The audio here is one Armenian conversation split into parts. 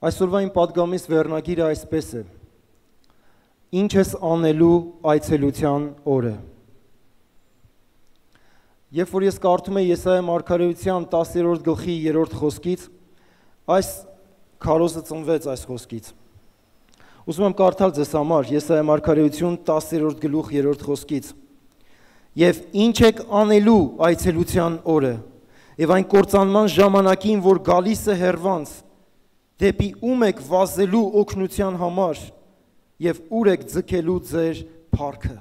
Այսօրվա իմ պատգամիս վերնագիրը այսպես է. Ինչ ես անելու այցելության օրը։ Երբ որ ես կարդում եմ Եսայիա մարգարեության 10-րդ գլխի 3-րդ խոսքից, այս քարոզը ծնվեց այս խոսքից։ Ուզում եմ կարդալ ձեզ համար Եսայիա մարգարեություն 10-րդ գլուխ 3-րդ խոսքից։ Եվ ինչ եք անելու այցելության օրը, եւ այն կործանման ժամանակին, որ գալիս է հեռվանց, դեպի ում եք վազելու օգնության համար եւ ուր եք ձգելու ձեր փառքը։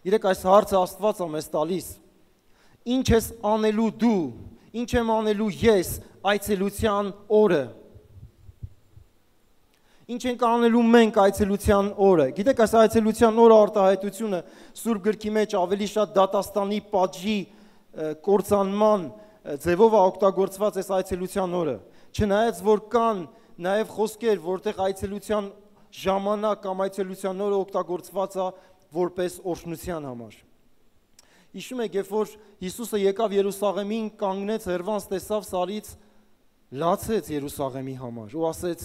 Իրեք այս հարցը Աստված է մեզ տալիս։ Ինչ ես անելու դու, ինչ եմ անելու ես այցելության օրը։ Ինչ ենք անելու մենք այցելության օրը։ Գիտեք, այս այցելության օրը արտահայտությունը Սուրբ գրքի մեջ ավելի շատ դատաստանի պատժի կործանման ձևով է օգտագործված այս այցելության օրը։ Չնայած որ կան նաև խոսքեր, որտեղ այցելության ժամանակ կամ այցելության օրը օգտագործված է որպես օրհնության համար։ Հիշում եք, երբ որ Հիսուսը եկավ Երուսաղեմին, կանգնեց, հեռվանց տեսավ սարից, լացեց Երուսաղեմի համար ու ասեց.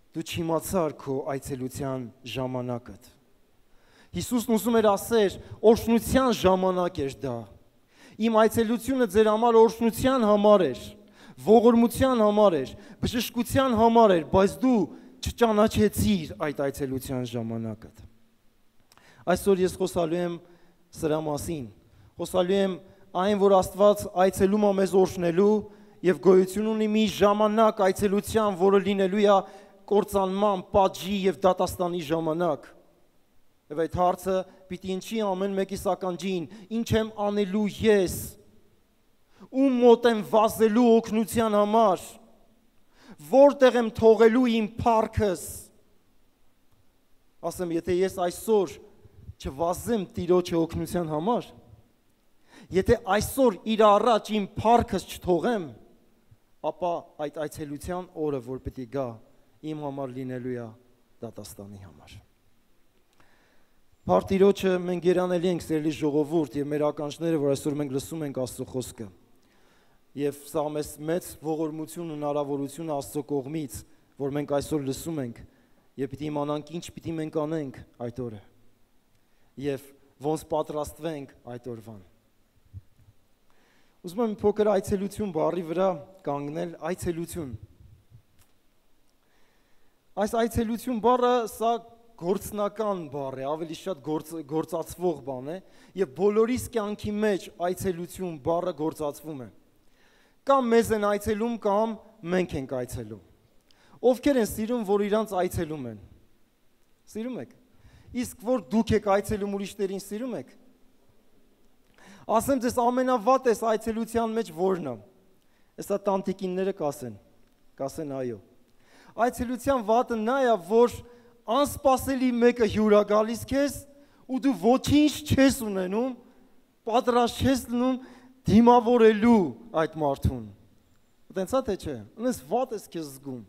դու չիմացար քո այցելության ժամանակդ։ Հիսուսն ուզում էր ասել, օրհնության ժամանակ էր դա։ Իմ այցելությունը ձեր համար օրհնության համար էր, ողորմության համար էր, բժշկության համար էր, բայց դու չճանաչեցիր այդ այցելության ժամանակը։ Այսօր ես խոսալու եմ սրա մասին, խոսալու եմ այն, որ Աստված այցելում է մեզ օրհնելու եւ գոյություն ունի մի ժամանակ այցելության, որը լինելու է կործանման, պատժի եւ դատաստանի ժամանակ։ Եվ այդ հարցը պիտի ինչի ամեն մեկի սականջին, ինչ եմ անելու ես, ում մոտ եմ վազելու օգնության համար, որտեղ եմ թողելու իմ փառքս։ Ասեմ, եթե ես այսօր չվազեմ Տիրոջը օգնության համար, եթե այսօր իր առաջ իմ փառքս չթողեմ, ապա այդ այցելության օրը, որ պիտի գա, իմ համար լինելու է դատաստանի համար։ Փառք Տիրոջը, մենք երանելի ենք սիրելի ժողովուրդ եւ մեր ականջները, որ այսօր մենք լսում ենք Աստծո խոսքը։ Եվ սա մեզ մեծ ողորմություն ու հնարավորություն Աստծո կողմից, որ մենք այսօր լսում ենք եւ պիտի իմանանք ինչ պիտի մենք անենք այդ օրը։ Եվ ոնց պատրաստվենք այդ օրվան։ Ուզում եմ փոքր այցելություն բառի վրա կանգնել, այցելություն։ Այս այցելություն բառը սա գործնական բառ է, ավելի շատ գործածվող բան է, եւ բոլորիս կյանքի մեջ այցելություն բառը գործածվում է։ Կամ մեզ են այցելում, կամ մենք ենք այցելում։ Ովքեր են սիրում, որ իրանց այցելում են։ Սիրում եք։ Իսկ որ դուք եք այցելում ուրիշներին, սիրում եք։ Ասեմ ձեզ ամենավատ էս այցելության մեջ որն է։ Հեսա տանտիկինները կասեն այո։ Այցելության վատը նա է, որ անսպասելի մեկը հյուրա գալիս քեզ ու դու ոչինչ չես ունենում, պատրաստ չես լինում դիմավորելու այդ մարդուն։ Տենց է թե չէ, ինձ վատ ես քեզ զգում։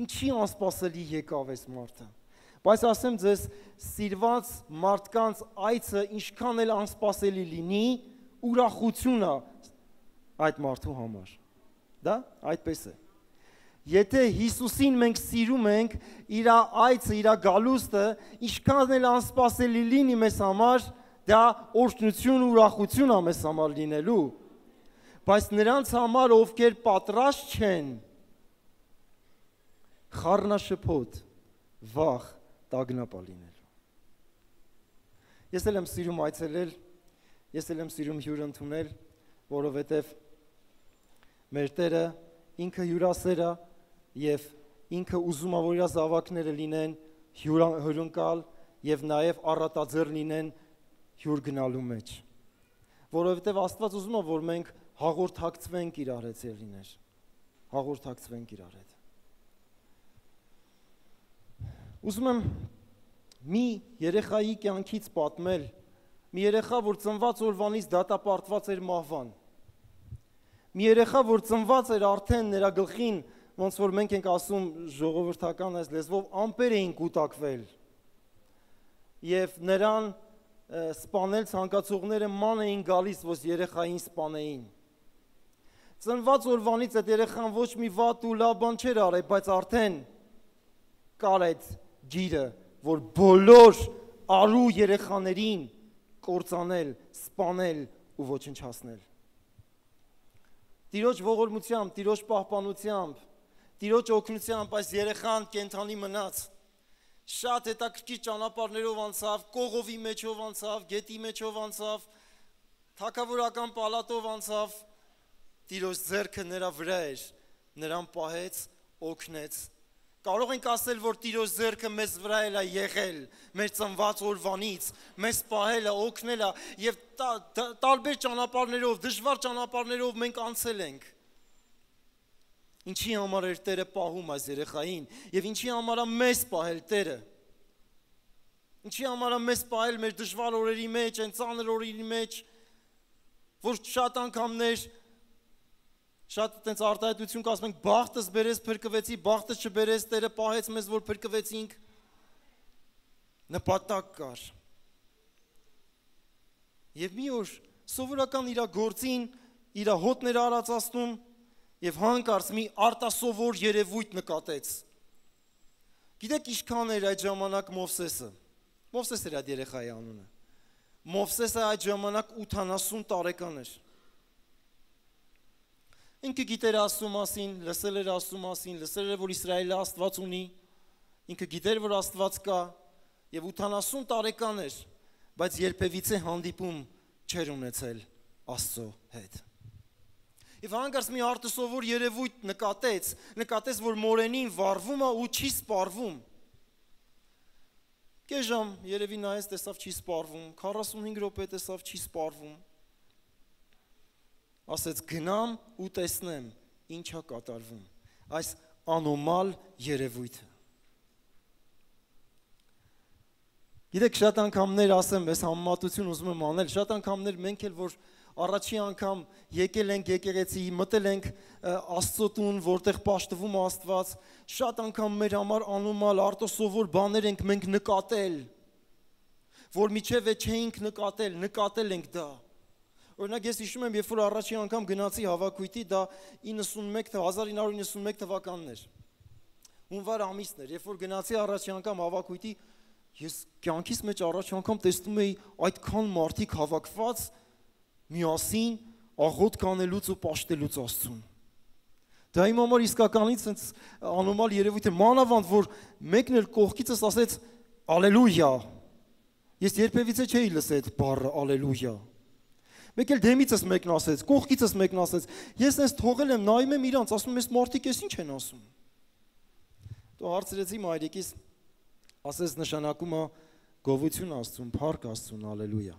Ինչի անսպասելի եկավ այս մարդը։ Բայց ասեմ ձեզ, սիրված մարդկանց այցը ինչքան էլ անսպասելի լինի, ուրախություն է այդ մարդու համար։ Դա այդպես է։ Եթե Հիսուսին մենք սիրում ենք, իր այցը, իր գալուստը, ինչքան էլ անսպասելի լինի մեզ համար, դա օրհնություն ու ուրախություն է մեզ համար լինելու։ Բայց նրանց համար, ովքեր պատրաստ չեն, խառնաշփոթ, վախ, տագնապ է լինելու։ Ես էլ եմ սիրում այցելել, ես էլ եմ սիրում հյուր ընդունել, որովհետև մեր Տերը ինքը հյուրասեր է եւ ինքը ուզում է, որ իր զավակները լինեն հյուրընկալ եւ նաեւ առատաձեռ լինեն հյուր գնալու մեջ։ Որովհետեւ Աստված ուզում է, որ մենք հաղորդակցվենք իրար հետ ելիներ։ Հաղորդակցվենք իրար հետ։ Ուզում եմ մի երեխայի կյանքից պատմել, մի երեխա, որ ծնված օրվանից դատապարտված էր մահվան։ Մի երեխա, որ ծնված էր արդեն նրա գլխին, ոնց որ մենք ենք ասում ժողովրդական այս լեզվով, ամպեր էին կուտակվել։ Եվ նրան սպանել ցանկացողները ման էին գալիս, որ երեխային սպանեին։ Ծնված օրվանից այդ երեխան ոչ մի վատ ու լավ բան չէր արել, բայց արդեն կար այդ ջիրը, որ բոլոր արու երեխաներին կործանել, սպանել ու ոչնչացնել։ Տիրոջ ողորմությամբ, Տիրոջ պահպանությամբ, Տիրոջ օգնությամբ այս երեխան կենդանի մնաց։ Շատ հետաքրքիր ճանապարհներով անցավ, կողովի մեջով անցավ, գետի մեջով անցավ, թագավորական պալատով անցավ, Տիրոջ ձեռքը նրա վրա էր, նրան պահեց, օգնեց։ Կարող ենք ասել, որ Տիրոջ ձեռքը մեզ վրա էլ է եղել, մեր ծնված օրվանից, մեզ պահել է, օգնել է եւ տարբեր ճանապարհներով, դժվար ճանապարհներով մենք անցել ենք։ Ինչի համար էր Տերը պահում այս երեխային եւ ինչի համար է մեզ պահել Տերը։ Ինչի համար է մեզ պահել մեր դժվար օրերի մեջ, այն ծանր օրերի մեջ, որ շատ անգամներ շատ այդպես արտահայտություն կասում ենք, բախտս բերես փրկվեցի, բախտս չբերես, Տերը պահեց մեզ, որ փրկվեցինք։ Նպատակ կար։ Եվ մի օր սովորական իր գործին, իր հոտները արածացնում եւ հանկարծ մի արտասովոր երևույթ նկատեց։ Գիտեք ինչքան էր այդ ժամանակ Մովսեսը։ Մովսես էր այդ երեխայի անունը։ Մովսեսը այդ ժամանակ 80 տարեկան էր։ Ինքը գիտեր Աստծո մասին, լսել էր Աստծո մասին, լսել էր, որ Իսրայելը Աստված ունի, ինքը գիտեր, որ Աստված կա, եւ 80 տարեկան էր, բայց երբևիցե հանդիպում չէր ունեցել Աստծո հետ։ Եվ հանկարծ մի արտասովոր երևույթ նկատեց, որ մորենին վառվում է ու չի սպառվում։ Կես ժամ երևի նայեց, տեսավ չի սպառվում, 45 րոպե տեսավ չի սպառվում։ Ասեց գնամ ու տեսնեմ ինչ է կատարվում այս անոմալ երևույթը։ Գիտեք, շատ անգամներ ասեմ, այս համեմատություն ուզում եմ անել, շատ անգամներ մենք էլ որ առաջի անգամ եկել ենք եկեղեցի, մտել ենք Աստծո տուն, որտեղ պաշտվում է Աստված, շատ անգամ մեր համար անոմալ արտասովոր բաներ ենք մենք նկատել, որ միջև չէինք նկատել ենք դա։ Օրինակ ես հիշում եմ, երբ որ առաջի անգամ գնացի հավաքույթի, դա 1991 թվականն էր։ Հունվար ամիսն էր, երբ որ գնացի առաջի անգամ հավաքույթի, ես կյանքիս մեջ առաջի անգամ տեսնում էի այդքան մարդիկ հավաքված միասին աղոթք անելուց ու պաշտելուց Աստծուն։ Դա իմ համար իսկականից այնց անոմալ երևույթ է, մանավանդ որ մեկն էլ կողքիցս ասեց ալելույա։ Ես երբևիցե չէի լսել այդ բառը ալելույա։ Մեկ էլ դեմիցս մեկն ասեց, կողքիցս մեկն ասեց, ես այս թողել եմ, նայում եմ իրանց, ասում եմ, այս մարդիկ էս ինչ են ասում։ Դու հարցրեցի մայրիկիս, ասես նշանակում է գովություն Աստծուն, փառք Աստծուն, ալելույա։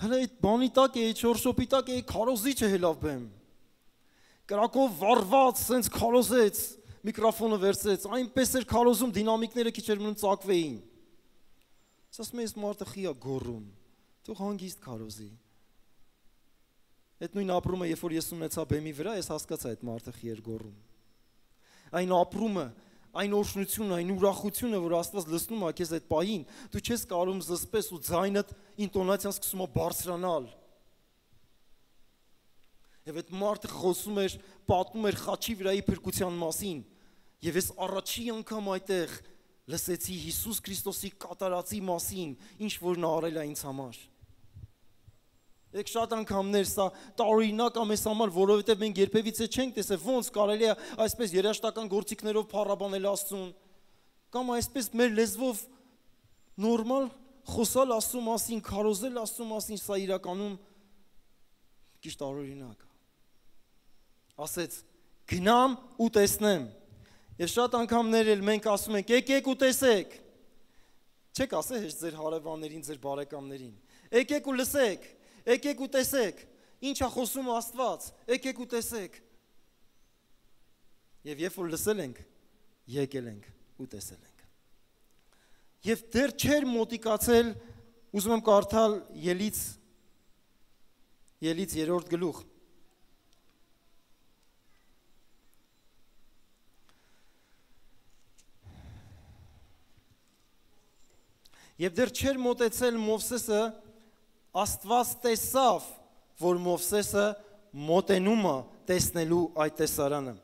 Հələ այդ բանի տակ է, չորշոպի տակ է, քարոզիչը հելավ բեմ։ Կրակով վառված, սենց քարոզեց, միկրոֆոնը վերցրեց, այնպես էր քարոզում, դինամիկները քիչ էր մնում ծակվեին։ Ասում եմ, այս մարդը խի է գոռում, թող հանգիստ քարոզի։ Այդ նույն ապրումը, երբ որ ես ունեցա բեմի վրա, ես հասկացա այդ մարդը խի էր գոռում։ Այն ապրումը, այն օրհնությունը, այն ուրախությունը, որ Աստված լցնում է քեզ այդ պահին, դու չես կարող զսպես ու ձայնդ ինտոնացիան սկսում է բարձրանալ։ Եվ այդ մարդը խոսում էր, պատմում էր խաչի վրայի փրկության մասին, եւ ես առաջի անգամ այդտեղ լսեցի Հիսուս Քրիստոսի կատարածի մասին, ինչ որ նա արել է ինձ համար։ Եք շատ անգամներ սա տարօրինակ է մեզ համար, որովհետև մենք երբևիցե չենք տեսել ոնց կարելի է այսպես երաժշտական գործիքներով փառաբանել Աստծուն, կամ այսպես մեր լեզվով նորմալ խոսալ Աստծո մասին, քարոզել Աստծո մասին, սա իրականում քիչ տարօրինակ է։ Ասեց գնամ ու տեսնեմ։ Եվ շատ անգամներ էլ մենք ասում ենք եկեք ու տեսեք։ Չեք ասել հեշտ ձեր հարևաններին, ձեր բարեկամներին։ Եկեք ու լսեք։ Եկեք ու տեսեք, ինչ է խոսում Աստված, եկեք ու տեսեք։ Եվ երբ որ լսել ենք, եկել ենք ու տեսել ենք։ Եվ դեռ չէր մոտիկացել, ուզում եմ կարդալ Ելից 3-րդ գլուխ։ Եվ դեռ չէր մոտեցել Մովսեսը, Աստված տեսավ, որ Մովսեսը մոտենում է տեսնելու այդ տեսարանը։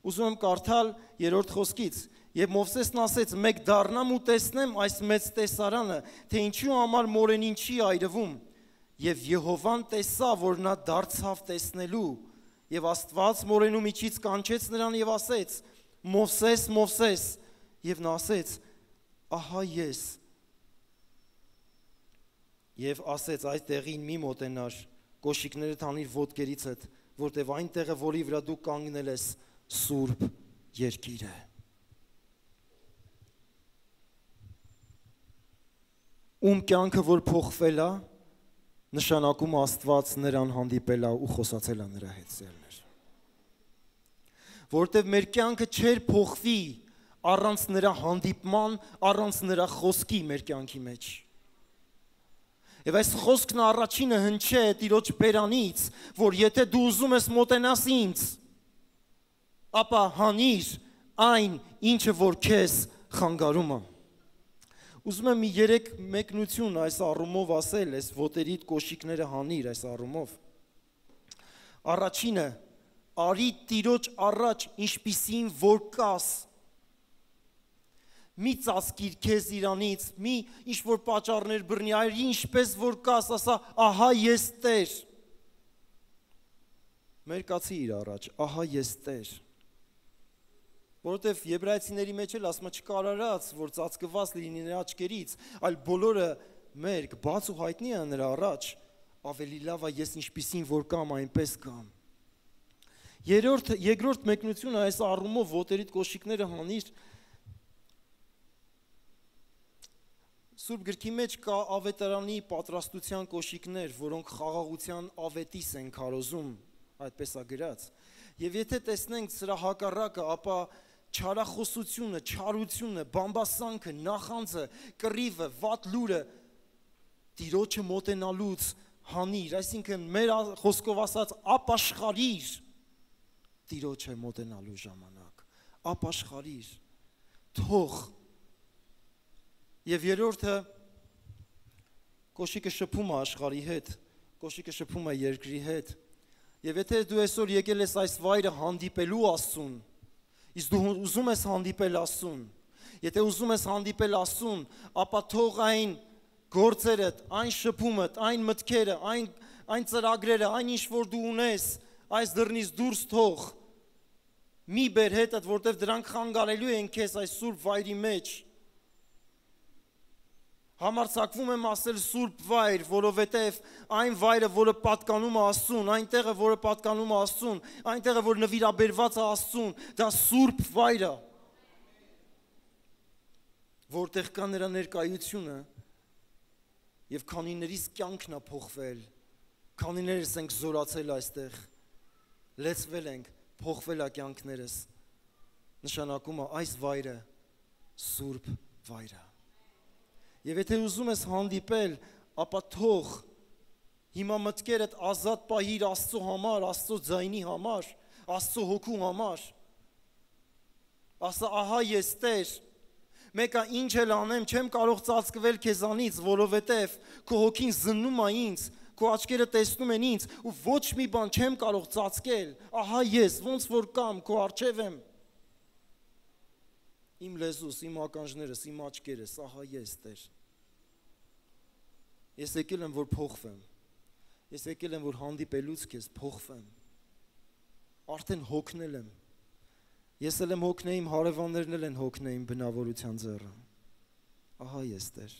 Ուզում եմ կարդալ 3-րդ խոսքից. Եվ Մովսեսն ասեց. «Մեկ դառնամ ու տեսնեմ այս մեծ տեսարանը, թե ինչու համար մորենին չի այրվում»։ Եվ Եհովան տեսավ, որ նա դարձավ տեսնելու, եւ Աստված մորենու միջից կանչեց նրան եւ ասեց. «Մովսես, Մովսես», եւ նա ասեց. «Ահա ես»։ Եվ ասեց. «Այս տեղին մի մոտենար, կոշիկները հանիր ոտքերիցդ, որտեվ այն տեղը, որի վրա դու կանգնել ես, սուրբ երկիր է»։ Ում կյանքը որ փոխվել է, նշանակում Աստված նրան հանդիպել է ու խոսացել է նրա հետ սերներ։ Որտև մեր կյանքը չէր փոխվի առանց նրա հանդիպման, առանց նրա խոսքի մեր կյանքի մեջ։ Եվ այս խոսքն առաջինը հնչե է Տիրոջ բերանից, որ եթե դու ուզում ես մոտենաս ինձ, ապա հանիր այն, ինչը որ քեզ խանգարում է։ Ուզում եմ մի 3 մեկնություն այս առումով ասել, այս ոտերիդ կոշիկները հանիր այս առումով։ Առաջինը, արի Տիրոջ առաջ ինչպիսին որ կաս։ Մի ծածկիր քեզ իրանից, մի ինչ որ պատճառներ բռնի, արի ինչպես որ կաս, ասա, ահա ես Տեր։ Մերկացի իր առաջ, ահա ես Տեր։ Որովհետև եբրայեցիների մեջ էլ ասում է չկարարած, որ ծածկված լինի նրա աչքերից, այլ բոլորը մերկ, բաց ու հայտնի է նրա առաջ, ավելի լավ է ես ինչպիսին որ կամ այնպես կամ։ Երկրորդ մեկնությունը այս առումով ոտերիդ կոշիկները հանիր։ Սուրբ գրքի մեջ կա ավետարանի պատրաստության կոշիկներ, որոնք խաղաղության ավետիս են քարոզում, այդպես է գրած։ Եվ եթե տեսնենք սրա հակառակը, ապա չարախոսությունը, չարությունը, բամբասանքը, նախանձը, կռիվը, վատ լուրը Տիրոջը մոտենալուց հանիր, այսինքն մեր խոսքով ասած ապաշխարիր Տիրոջը մոտենալու ժամանակ, ապաշխարիր, թող։ Եվ երրորդը կոշիկը շփում է աշխարհի հետ, կոշիկը շփում է երկրի հետ։ Եվ եթե դու այսօր եկել ես այս վայրը հանդիպելու Աստծուն, իսկ դու ուզում ես հանդիպել Աստծուն, եթե ուզում ես հանդիպել Աստծուն, ապա թող այն գործերդ, այն շփումդ, այն մտքերը, այն ծրագրերը, այն ինչ որ դու ունես, այս դռնից դուրս թող, մի բեր հետդ, որտեղ դրանք խանգարելու են քեզ այս սուրբ վայրի մեջ։ Համարձակվում եմ ասել սուրբ վայր, որովհետև այն վայրը, որը պատկանում է Աստծուն, այն տեղը, որը պատկանում է Աստծուն, այն տեղը, որ նվիրաբերված է Աստծուն, դա սուրբ վայր է, որտեղ կա նրա ներկայությունը, եւ քանիներիս կյանքն է փոխվել, քանիներս ենք զորացել այստեղ, լեցվել ենք, փոխվել է կյանքներս, նշանակում է այս վայրը սուրբ վայր է։ Եվ եթե ուզում ես հանդիպել, ապա թող հիմա մտքերդ ազատ պահիր Աստծո համար, Աստծո ձայնի համար, Աստծո հոգու համար։ Ասա, ահա ես Տեր, մեկը ինչ էլ անեմ, չեմ կարող ծածկվել քեզանից, որովհետև քո հոգին զննում է ինձ, քո աչքերը տեսնում են ինձ, ու ոչ մի բան չեմ կարող ծածկել, ահա ես, ոնց որ կամ, քո առջև եմ։ Իմ լեզուս, իմ ականջներս, իմ աչքերս, ահա ես Տեր։ Ես եկել եմ, որ փոխվեմ, ես եկել եմ, որ հանդիպելուց քեզ փոխվեմ, արդեն հոգնել եմ, ես էլ եմ հոգնել, իմ հարևաններն էլ են հոգնել իմ բնավորության ձեռը, ահա ես Տեր։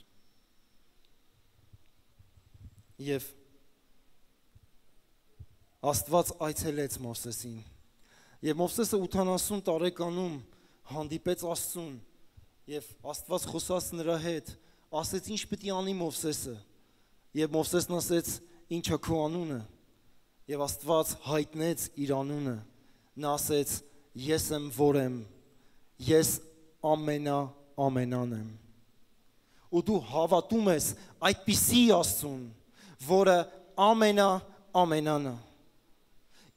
Եվ Աստված այցելեց Մովսեսին, և Մովսեսը 80 տարեկանում հանդիպեց Աստծուն, և Աստված խոսաց նրա հետ, ասեց ինչ պիտի անի Մովսեսը, և Մովսեսն ասեց ինչ է քո անունը, և Աստված հայտնեց իր անունը, նա ասեց ես եմ որ եմ, ես ամենան եմ, ու դու հավատում ես այդպիսի Աստծուն, որը ամենանը,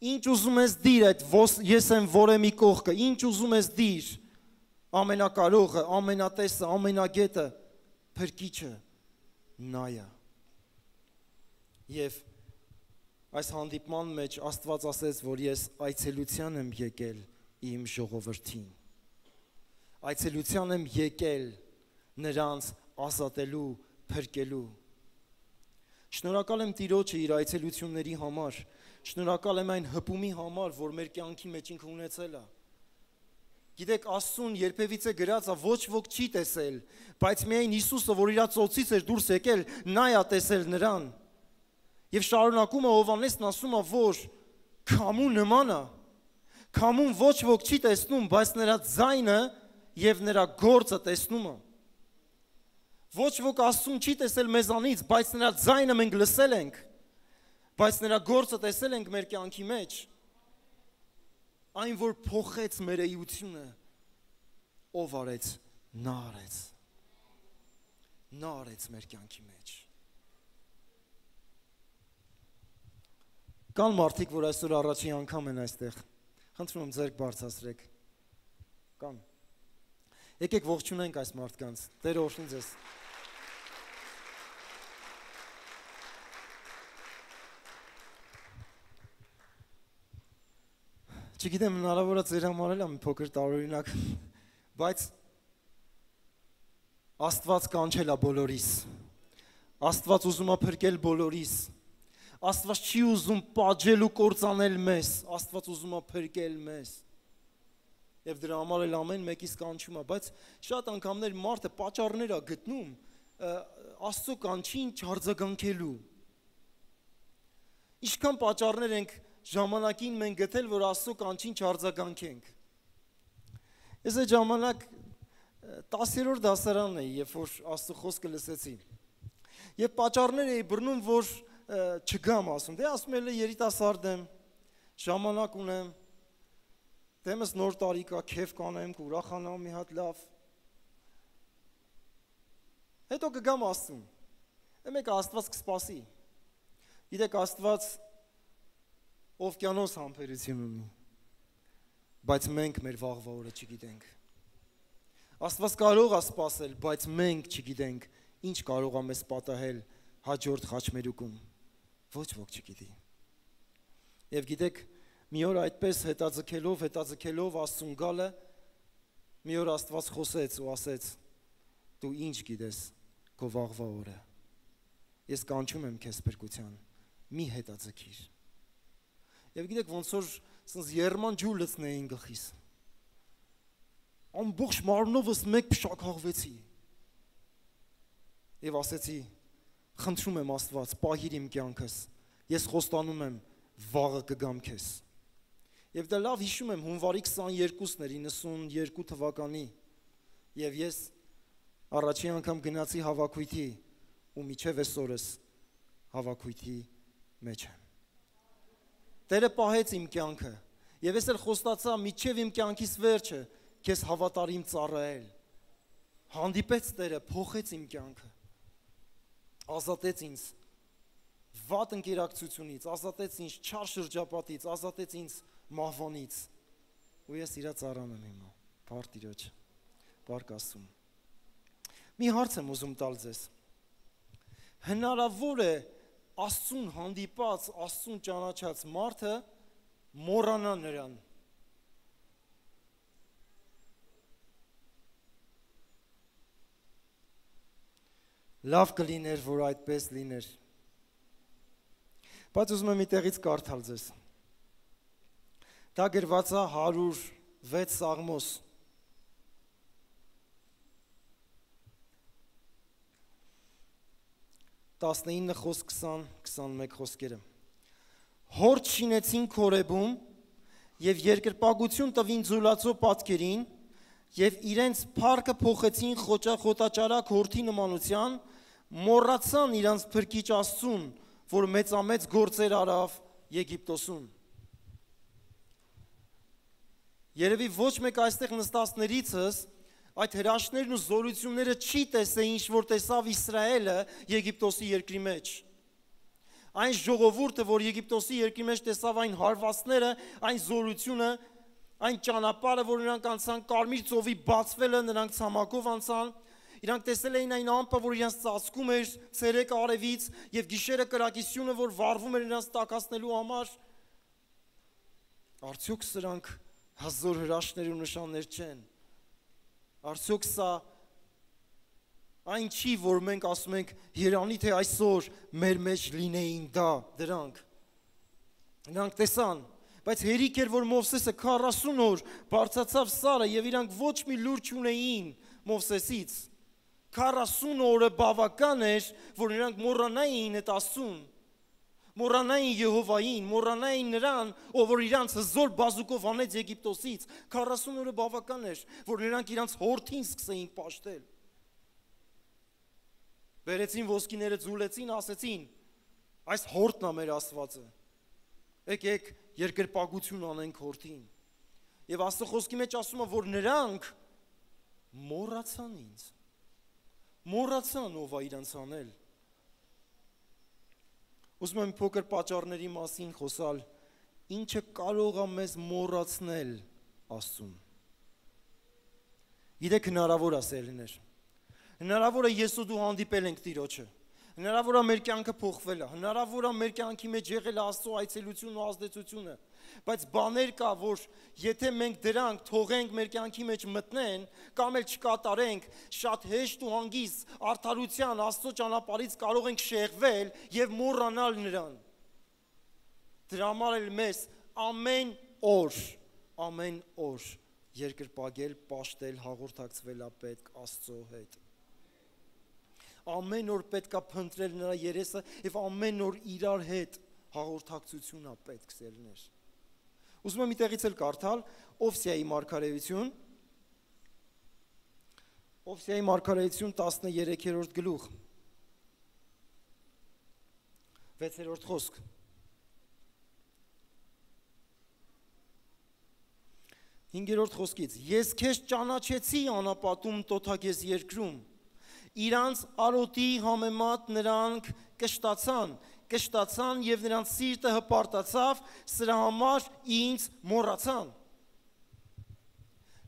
ինչ ուզում ես դիր այդ ես եմ որ եմ ի կողքը, ինչ ուզում ես դիր, ամենակարողը, ամենատեսը, ամենագետը, փրկիչը, նա է։ Եվ Այս հանդիպման մեջ Աստված ասեց, որ ես այցելության եմ եկել իմ ժողովրդին։ Այցելության եմ եկել նրանց ազատելու, փրկելու։ Շնորհակալ եմ Տիրոջը իր այցելությունների համար, շնորհակալ եմ այն հպումի համար, որ մեր կյանքի մեջ ինքը ունեցել է։ Գիտեք, Աստծուն երբևիցե գրած է, ոչ ոք չի տեսել, բայց միայն Հիսուսը, որ իր ծոցից էր դուրս եկել, նա է տեսել նրան։ Եվ շարունակում է Հովհաննեսն ասում է, որ քամու նման է, քամուն ոչ ոք չի տեսնում, բայց նրա ձայնը եւ նրա գործը տեսնում է։ Ոչ ոք Աստծուն չի տեսել մեզանից, բայց նրա ձայնը մենք լսել ենք, բայց նրա գործը տեսել ենք մեր կյանքի մեջ։ Այն, որ փոխեց մեր էությունը, ով արեց, նա արեց։ Նա արեց մեր կյանքի մեջ։ Կան մարդիկ, որ այսօր առաջին անգամ են այստեղ։ Խնդրում եմ ձեռք բարձրացրեք։ Կան։ Եկեք ողջունենք այս մարդկանց։ Տերը օրհնի ձեզ։ Չգիտեմ, հնարավոր է ձեր համար էլ մի փոքր տարօրինակ, բայց Աստված կանչել է բոլորիս։ Աստված ուզում է փրկել բոլորիս։ Աստված չի ուզում պատժել ու կործանել մեզ, Աստված ուզում է փրկել մեզ։ Եվ դրա համար էլ ամեն մեկից կանչում է, բայց շատ անգամներ մարդը պատճառներ է գտնում Աստծո կանչին չարձագանքելու։ Ինչքան պատճառներ ենք ժամանակին մենք գտել, որ Աստծո կանչին չարձագանքենք։ Ես այդ ժամանակ 10-րդ դասարանն էի, երբ որ Աստծո խոսքը լսեցի։ Եվ պատճառներ էի բռնում, որ չգամ ասում։ Դե ասում եմ, երիտասարդ եմ, ժամանակ ունեմ, դեմս նոր տարի կա, քեֆ կանեմ, կուրախանամ մի հատ լավ։ Հետո կգամ Աստծուն։ Մեկ Աստված կսպասի։ Գիտեք, Աստված օվկիանոս համբերություն ունի, բայց մենք մեր վաղվա օրը չգիտենք։ Աստված կարող է սպասել, բայց մենք չգիտենք, ինչ կարող է մեզ պատահել հաջորդ խաչմերուկում։ Ոչ ոք չգիտի։ Եվ գիտեք, մի օր այդպես հետաձգելով Աստծուն գալը, մի օր Աստված խոսեց ու ասեց. դու ինչ գիտես քո վաղվա օրը։ Ես կանչում եմ քեզ փրկության, մի հետաձգիր։ Եվ գիտեք, ոնց որ սենց երման ջուր լցնեին գլխիս։ Ամբողջ մարմնովս մեկ փշակաղվեցի։ Եվ ասեցի, խնդրում եմ Աստված, պահիր իմ կյանքս, ես խոստանում եմ, վաղը կգամ քեզ։ Եվ դա լավ հիշում եմ, հունվարի 22-ն էր 92 թվականի, եւ ես առաջին անգամ գնացի հավաքույթի ու միջև այսօրս հավաքույթի մեջ եմ։ Տերը պահեց իմ կյանքը, եւ ես էլ խոստացա միջև իմ կյանքիս վերջը քեզ հավատարիմ ծառայել։ Հանդիպեց Տերը, փոխեց իմ կյանքը, ազատեց ինձ վատ ընկերակցությունից, ազատեց ինձ չար շրջապատից, ազատեց ինձ մահվանից։ Ու ես իրա ծառան եմ հիմա, բարդ Տիրոջ, բարք Աստծուն։ Մի հարց եմ ուզում տալ ձեզ։ Հնարավոր է Աստծուն հանդիպած, Աստծուն ճանաչած մարդը մոռանա նրան։ Լավ կլիներ, որ այդպես լիներ։ Բայց ուզում եմ մի տեղից կարդալ ձեզ։ Դա գրված է 106 Սաղմոս 19 խոսք 20-21 խոսքերը։ Հոր շինեցին Քորեբում եւ երկրպագություն տվին ձուլածո պատկերին եւ իրենց փառքը փոխեցին խոտաճարակ հորթի նմանության, մոռացան իրանց փրկիչ Աստծուն, որ մեծամեծ գործեր արավ Եգիպտոսում։ Երևի ոչ մեկ այստեղ նստածներիցս այդ հրաշքներն ու զորությունները չի տեսել, ինչ որ տեսավ Իսրայելը Եգիպտոսի երկրի մեջ։ Այն ժողովուրդը, որ Եգիպտոսի երկրի մեջ տեսավ այն հարվածները, այն զորությունը, այն ճանապարհը, որ նրանք անցան, Կարմիր ծովի բացվելը, նրանք ցամաքով անցան, Իրանք տեսել էին այն ամպը, որ իրանց ծածկում էր ցերեկը արևից եւ գիշերը կրակիսյունը, որ վառվում էր իրանց տակածնելու համար։ Արդյոք սրանք հազոր հրաշքներ ու նշաններ չեն։ Արդյոք սա այն չի, որ մենք ասում ենք երանի թե այսօր մեր մեջ լինեին դրանք։ Նրանք տեսան, բայց հերիք էր, որ Մովսեսը 40 օր բարձրացավ Սարը եւ իրանք ոչ մի լուր չունեին Մովսեսից։ 40 օրը բավական էր, որ նրանք մոռանային այդ Աստծուն, մոռանային Եհովային, մոռանային նրան, ով որ իրանց հզոր բազուկով անեց Եգիպտոսից։ 40 օրը բավական էր, որ նրանք իրանց հորթին սկսեին պաշտել։ Բերեցին ոսկիները, ձուլեցին, ասեցին. այս հորթն է մեր Աստվածը։ Եկեք երկրպագություն անենք հորթին։ Եվ Աստծո խոսքի մեջ ասում է, որ նրանք մոռացան ինձ։ Մոռացան ով է իրանց անել։ Ուզում եմ փոքր պատճառների մասին խոսալ, ինչը կարող է մեզ մոռացնել Աստծուն։ Գիտեք, հնարավոր է սերներ։ Հնարավոր է ես ու դու հանդիպել ենք Տիրոջը։ Հնարավոր է մեր կյանքը փոխվել է, հնարավոր է մեր կյանքի մեջ եղել է Աստծո այցելությունն ու ազդեցությունը, բայց բաներ կա, որ եթե մենք դրանք թողենք մեր կյանքի մեջ մտնեն, կամ էլ չկատարենք, շատ հեշտ ու հանգիստ արդարության Աստծո ճանապարհից կարող ենք շեղվել եւ մոռանալ նրան։ Դրա համար էլ մեզ ամեն օր երկրպագել, պաշտել, հաղորդակցվել է պետք Աստծո հետ։ Ամեն օր պետք է փնտրել նրա երեսը եւ ամեն օր իրար հետ հաղորդակցություն է պետք սերներ։ Ուզում եմ իտեղից էլ կարդալ Օվսիայի մարգարեություն 13-րդ գլուխ 6-րդ խոսք։ Հինգերորդ խոսքից. Ես քեզ ճանաչեցի անապատում տոթագեզ երկրում, իրանց արոտի համեմատ նրանք կշտացան և նրանց սիրտը հպարտացավ, սրա համար ինձ մոռացան։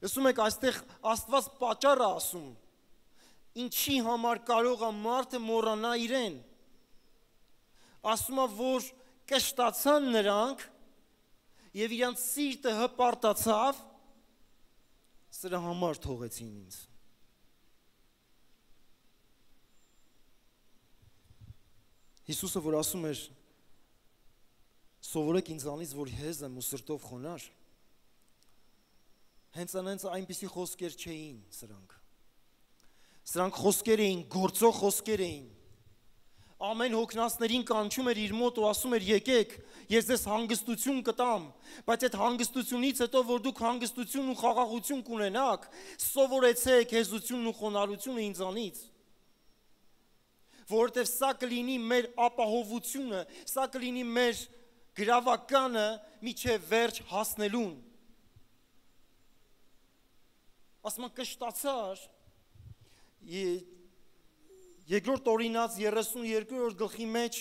Լսում եք, այստեղ Աստված պատճառ է ասում, ինչի համար կարող է մարդը մոռանա իրեն։ Ասում է, որ կշտացան նրանք և իրանց սիրտը հպարտացավ, սրա համար թողեցին ինձ։ Հիսուսը, որ ասում էր, սովորեք ինձանից, որ հեզ եմ ու սրտով խոնար, հենց այնպիսի խոսքեր չէին սրանք։ Սրանք խոսքեր էին, գործող խոսքեր էին։ Ամեն հոգնածներին կանչում էր իր մոտ ու ասում էր, եկեք, ես ձեզ հանգստություն կտամ, բայց այդ հանգստությունից հետո, որ դուք հանգստություն ու խաղաղություն կունենաք, սովորեցեք հեզությունն ու խոնարհությունը ինձանից, որովհետև սա կլինի մեր ապահովությունը, սա կլինի մեր գրավականը մինչև վերջ հասնելուն։ Ասում են կշտացար, Երկրորդ օրինաց 32-րդ գլխի մեջ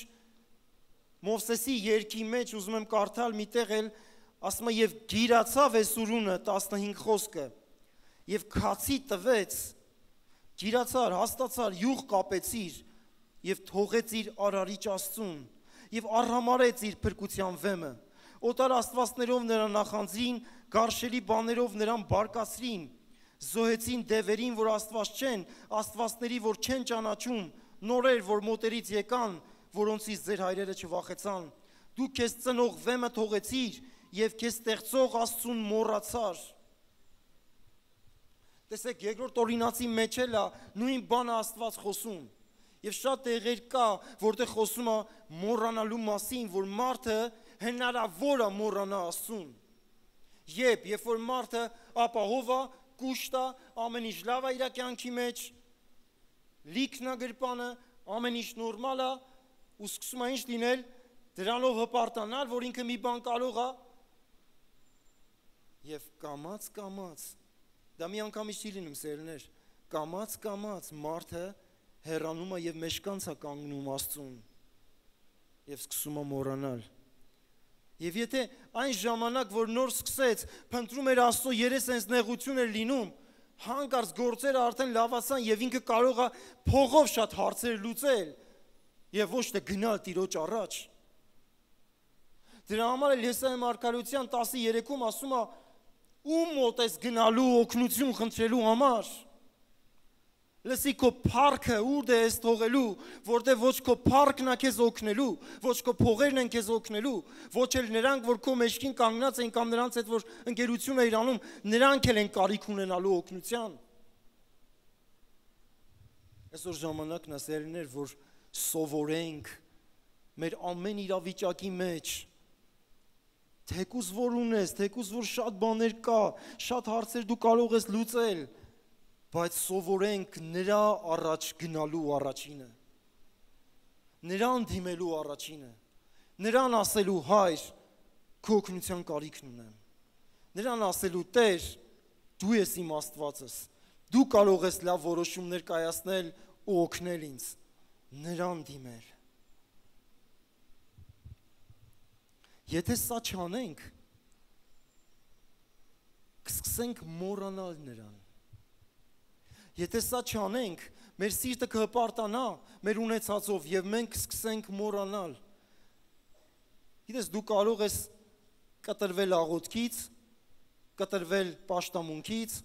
Մովսեսի երգի մեջ ուզում եմ կարդալ միտեղ էլ ասում է եւ գիրացավ Էսուրունը 15 խոսքը եւ քացի տվեց, գիրացար, հաստացար, յուղ կապեցիր եւ թողեց իր արարիչ Աստծուն եւ արհամարեց իր փրկության վեմը։ Օտար աստվածներով նրան նախանձին, գարշելի բաներով նրան բարկացրին, զոհեցին դևերին, որ Աստված չեն, աստվածների, որ չեն ճանաչում, նորեր, որ մոտերից եկան, որոնցից ձեր հայրերը չվախեցան։ Դու քեզ ծնող վեմը թողեցիր եւ քեզ ստեղծող Աստծուն մոռացար։ Տեսեք, երկրորդ օրինացի մեջ էլ է նույն բանը Աստված խոսում։ Եվ շատ տեղեր կա, որտեղ խոսում է մոռանալու մասին, որ մարդը հնարավոր է մոռանա Աստծուն։ Երբ որ մարդը ապահով է, կուշտ է, ամեն ինչ լավ է իր կյանքի մեջ, լիքն է գրպանը, ամեն ինչ նորմալ է, ու սկսում է ինչ լինել, դրանով հպարտանալ, որ ինքը մի բան կարող է, եւ կամաց, դա մի անգամից չի լինում սերներ, կամաց մարդը հեռանում է եւ մեջկանց է կանգնում Աստծուն եւ սկսում է մոռանալ։ Եվ եթե այն ժամանակ, որ նոր սկսեց, փնտրում էր Աստծո երես հենց նեղություն էր լինում, հանկարծ գործերը արդեն լավացան եւ ինքը կարող է փողով շատ հարցեր լուծել եւ ոչ թե գնալ Տիրոջ առաջ։ Դրա համար էլ Եսայի մարգարեության 13-ում ասում է. ում մոտ ես գնալու օգնություն խնդրելու համար։ Լսի քո փառքը ուր ես թողելու, որտեղ ոչ քո փառքն է քեզ օգնելու, ոչ քո փողերն են քեզ օգնելու, ոչ էլ նրանք, որ քո մեջքին կանգնած են կամ նրանց հետ որ ընկերություն է իրանում, նրանք էլ են կարիք ունենալու օգնության։ Այսօր ժամանակն է սերներ, որ սովորենք մեր ամեն իրավիճակի մեջ, թեկուզ որ ունես, թեկուզ որ շատ բաներ կա, շատ հարցեր դու կարող ես լուծել, բայց սովորենք նրա առաջ գնալու առաջինը, նրան դիմելու առաջինը, նրան ասելու հայր, քո օգնության կարիքն ունեմ, նրան ասելու Տեր, դու ես իմ Աստվածս, դու կարող ես լավ որոշումներ կայացնել ու օգնել ինձ, նրան դիմել։ Եթե սա չանենք, կսկսենք մոռանալ նրան։ Եթե սա չանենք, մեր սիրտը կհպարտանա մեր ունեցածով եւ մենք կսկսենք մոռանալ։ Գիտես, դու կարող ես կտրվել աղոթքից, կտրվել պաշտամունքից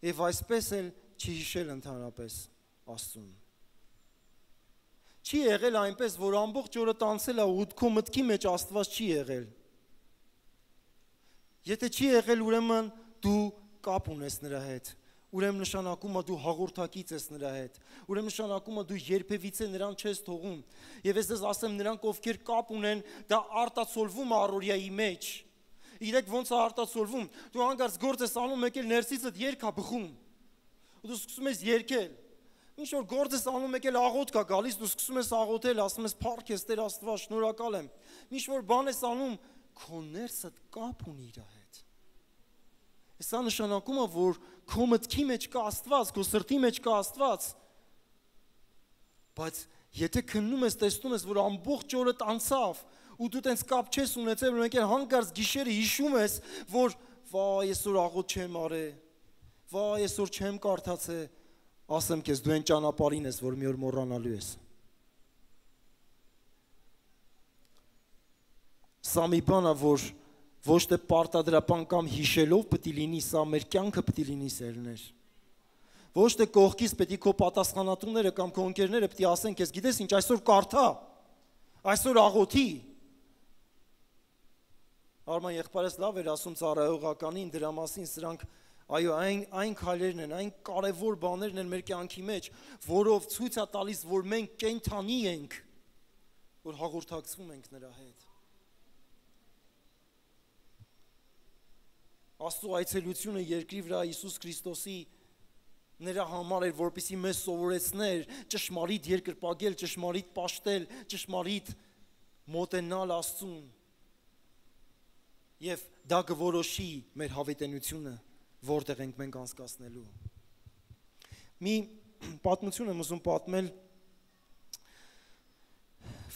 եւ այսպես էլ չհիշել ընդհանրապես Աստծուն։ Չի եղել այնպես, որ ամբողջ օրը տանցել է ու քո մտքի մեջ Աստված չի եղել։ Եթե չի եղել, ուրեմն դու կապ ունես նրա հետ։ Ուրեմն նշանակում է դու հաղորդակից ես նրա հետ։ Ուրեմն նշանակում է դու երբևիցե նրան չես թողում։ Եվ ես ասեմ, նրանք ովքեր կապ ունեն, դա արտացոլվում է առօրյայի մեջ։ Իրեք ոնց է արտացոլվում։ Դու հանկարծ գործ ես անում, մեկ էլ ներսիցդ երգ է բխում։ Ու դու սկսում ես երգել։ Ինչ որ գործ ես անում, մեկ էլ աղոթք է գալիս, դու սկսում ես աղոթել, ասում ես փառք ես Տեր Աստված, շնորհակալ եմ։ Ինչ որ բան ես անում, քո ներսդ կապ ունի իր հետ։ Սա նշանակում է, որ քո մտքի մեջ կա Աստված, քո սրտի մեջ կա Աստված։ Բայց եթե քննում ես, տեսնում ես, որ ամբողջ օրը տանցավ, ու դու տենց կապ չես ունեցել, ու մեկ էլ հանկարծ գիշերը հիշում ես, որ վայ, այսօր աղոթք չեմ արել, վայ, այսօր չեմ կարդացել, ասեմ քեզ, դու այն ճանապարհին ես, որ մի օր մոռանալու ես։ Սա մի բան է, որ ոչ թե պարտադրական կամ հիշելով պետք է լինի, սա մեր կյանքը պետք է լինի սերներ։ Ոչ թե կողքից պետք է քո պատասխանատուները կամ քո ընկերները պետք է ասեն քեզ, գիտես ինչ, այսօր կարդա, այսօր աղոթի։ Արման եղբայրս լավ էր ասում ծառայողականին դրա մասին, սրանք այո, այն քայլերն են, այն կարևոր բաներն են մեր կյանքի մեջ, որով ցույց է տալիս, որ մենք կենդանի ենք, որ հաղորդակցվում ենք նրա հետ։ Աստծո այցելությունը երկրի վրա Հիսուս Քրիստոսի նրա համար էր, որպեսզի մեզ սովորեցներ ճշմարիտ երկրպագել, ճշմարիտ պաշտել, ճշմարիտ մոտենալ Աստծուն։ Եվ դա կորոշի մեր հավիտենությունը, որտեղ ենք մենք անցկացնելու։ Մի պատմություն եմ ուզում պատմել։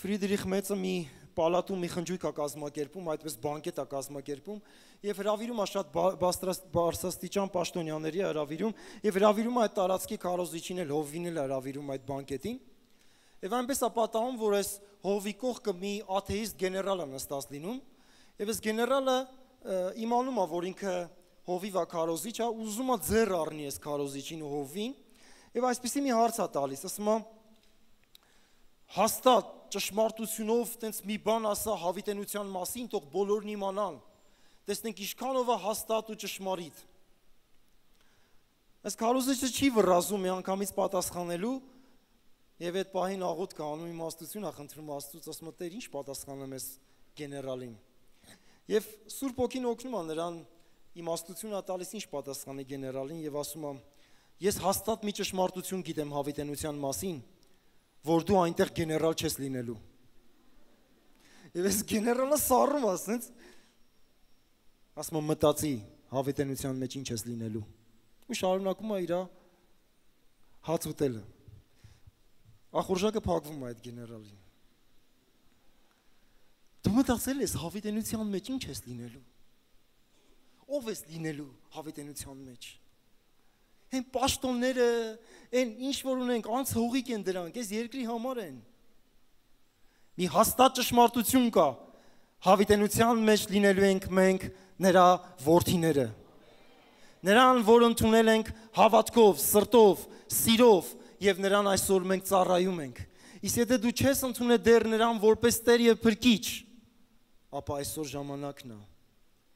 Ֆրիդրիխ Մեծը մի պալատում մի խնջույք է կազմակերպում, այդպես բանկետ է կազմակերպում, եւ հրավիրում է շատ բարձրաստիճան պաշտոնյաների հրավիրում, եւ հրավիրում է այդ տարածքի քարոզիչին էլ հովվին էլ հրավիրում այդ բանկետին։ Եվ այնպես է պատահում, որ այս հովվի կողքը մի աթեիստ գեներալ է նստած լինում, եւ այս գեներալը իմանում է, որ ինքը հովիվ է քարոզիչ է, ուզում է ձեռ առնի այս քարոզիչին ու հովվին, եւ այսպեսի մի հարց է տալիս, ասում է հաստատ ճշմարտությունով տենց մի բան ասա հավիտենության մասին, թող բոլորն իմանան, տեսնենք ինչքանով է հաստատ ու ճշմարիտ։ Այս քարոզիչը չի վռազում միանգամից պատասխանելու, եւ այդ պահին աղոթք անում, իմաստություն է խնդրում Աստծուց, ասում է Տեր, ինչ պատասխանեմ այս գեներալին։ Եվ Սուրբ Օքին օգնում է նրան իմաստություն է տալիս, ինչ պատասխանի գեներալին, եւ ասում է ես հաստատ մի ճշմարտություն գիտեմ հավիտենության մասին, որ դու այնտեղ գեներալ չես լինելու։ Եվ այս գեներալը սառում է, ասենց ասում է մտածի հավիտենության մեջ ինչ ես լինելու։ Ու շարունակում է իր հաց ուտելը։ Ախորժակը փակվում է այդ գեներալին։ Դու մտածել ես հավիտենության մեջ ինչ ես լինելու։ Ո՞վ ես լինելու հավիտենության մեջ։ Այն պաշտոնները, այն ինչ որ ունենք, անց հողիկ են դրանք, այս երկրի համար են։ Մի հաստատ ճշմարտություն կա, հավիտենության մեջ լինելու ենք մենք նրա որդիները։ Նրան, որ ընդունել ենք հավատքով, սրտով, սիրով եւ նրան այսօր մենք ծառայում ենք։ Իսկ եթե դու չես ընդունել դեռ նրան որպես Տեր եւ Փրկիչ, ապա այսօր ժամանակն է,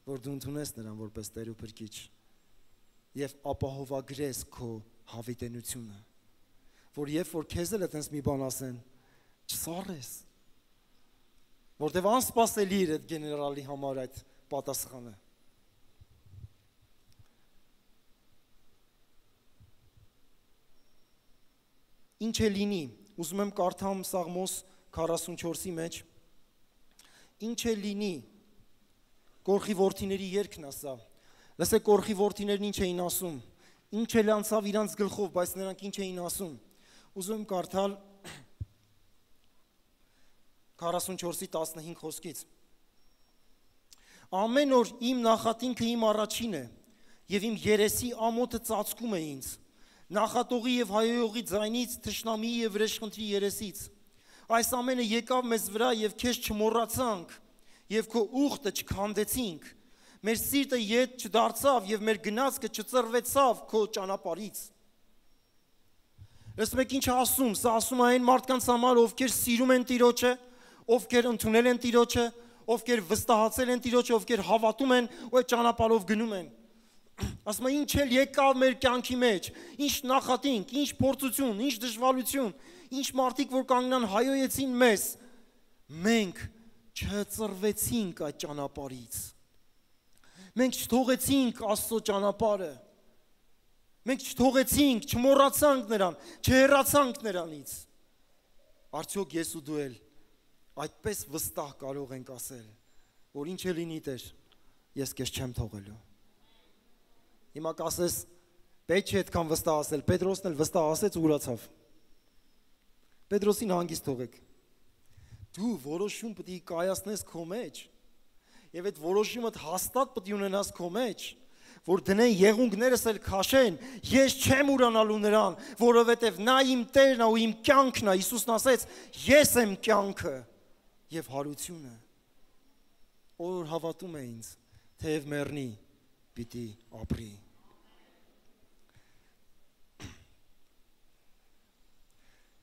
որ դու ընդունես նրան որպես Տեր ու Փրկիչ եւ ապահովագրես քո հավիտենությունը, որ երբ որ քեզ էլ այդպես մի բան ասեն, չսառես, որտեւ անսպասելի էր այդ գեներալի համար այդ պատասխանը։ Ինչ է լինի, ուզում եմ կարդամ Սաղմոս 44-ի մեջ, ինչ է լինի, կորխի որդիների երգն ասա, լսեք կորխի որդիներն ինչ էին ասում, ինչ էլ անցավ իրանց գլխով, բայց նրանք ինչ էին ասում, ուզում եմ կարդալ 44-ի 15 խոսքից, ամեն օր իմ նախատինքը իմ առաջին է, և իմ երեսի ամոթը ծածկում է ինձ, նախատողի և հայոյողի ձայնից, թշնամիի և վրեժխնդրի երեսից, այս ամենը եկավ մեզ վրա և քեզ չմոռացանք, և քո ուխտը չքանդեցինք, մեր սիրտը ետ չդարձավ և մեր գնացքը չծռվեցավ քո ճանապարհից։ Լսում եք ինչ ասում, սա ասում է այն մարդկանց համար, ովքեր սիրում են Տիրոջը, ովքեր ընդունել են Տիրոջը, ովքեր վստահացել են Տիրոջը, ովքեր հավատում են ու այդ ճանապարհով գնում են։ Ասում է ինչ էլ եկավ մեր կյանքի մեջ, ինչ նախատինք, ինչ փորձություն, ինչ դժվարություն, ինչ մարդիկ որ կանգնան հայոյեցին մեզ, մենք չծռվեցինք այդ ճանապարհից։ Մենք չթողեցինք Աստծո ճանապարհը։ Մենք չթողեցինք, չմոռացանք նրան, չհեռացանք նրանից։ Արդյոք ես ու դու էլ այդպես վստահ կարող ենք ասել, որ ինչ է լինի Տեր, ես քեզ չեմ թողելու։ Հիմա կասես, պետք չէ այդքան վստահ ասել, Պետրոսն էլ վստահ ասեց ու ուրացավ։ Պետրոսին հանգիստ թողեք։ Դու որոշում պետք է կայացնես քո մեջ, եւ այդ որոշումդ հաստատ պետք է ունենաս քո մեջ, որ դնեն եղունգներս էլ քաշեն, ես չեմ ուրանալու նրան, որովհետեւ նա իմ Տերն է ու իմ կյանքն է, Հիսուսն ասեց, ես եմ կյանքը եւ հարությունը։ Որ հավատում է ինձ, թեև մեռնի, պիտի ապրի։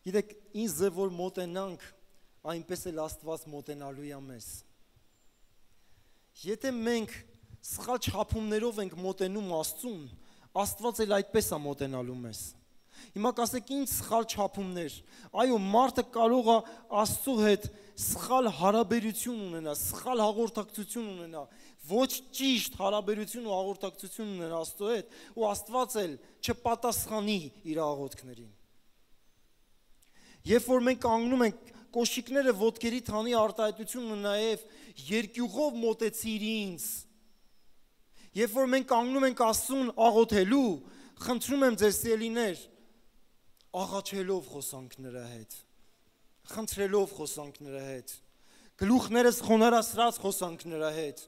Գիտեք, ինձ ձև որ մոտենանք, այնպես էլ Աստված մոտենալու է մեզ։ Եթե մենք սխալ չափումներով ենք մոտենում Աստծուն, Աստված էլ այդպես է մոտենալու մեզ։ Հիմա կասեք ինչ սխալ չափումներ։ Այո, մարդը կարող է Աստծո հետ սխալ հարաբերություն ունենա, սխալ հաղորդակցություն ունենա, ոչ ճիշտ հարաբերություն ու հաղորդակցություն ունենա Աստծո հետ, ու Աստված էլ չպատասխանի իր աղոթքներին։ Երբ որ մենք կանգնում ենք, կոշիկները ոտքերի թանի արտահայտությունը նաև երկյուղով մոտեցիր ինձ։ Երբ որ մենք կանգնում ենք Աստծուն աղոթելու, խնդրում եմ ձեզ սիրելիներ, աղաչելով խոսանք նրա հետ, խնդրելով խոսանք նրա հետ, գլուխներս խոնարհացրած խոսանք նրա հետ,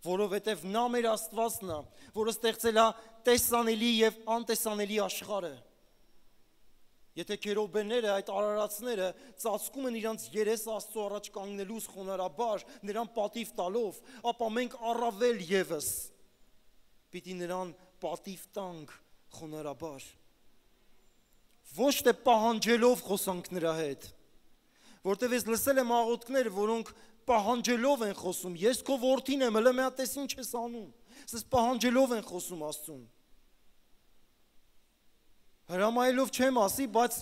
որովհետև նա մեր Աստվածն է, որը ստեղծել է տեսանելի եւ անտեսանելի աշխարհը։ Եթե քերոբեները, այդ արարածները ծածկում են իրանց երես Աստծո առաջ կանգնելուց խոնարհաբար, նրան պատիվ տալով, ապա մենք առավել եւս պիտի նրան պատիվ տանք խոնարհաբար։ Ոչ թե պահանջելով խոսանք նրա հետ, որտեվ ես լսել եմ աղոթքներ, որոնք պահանջելով են խոսում, ես քո որդին եմ, հələ մի հատ ինչ ես անում, ասես պահանջելով են խոսում Աստծուն։ Հրամայելով չեմ ասի, բայց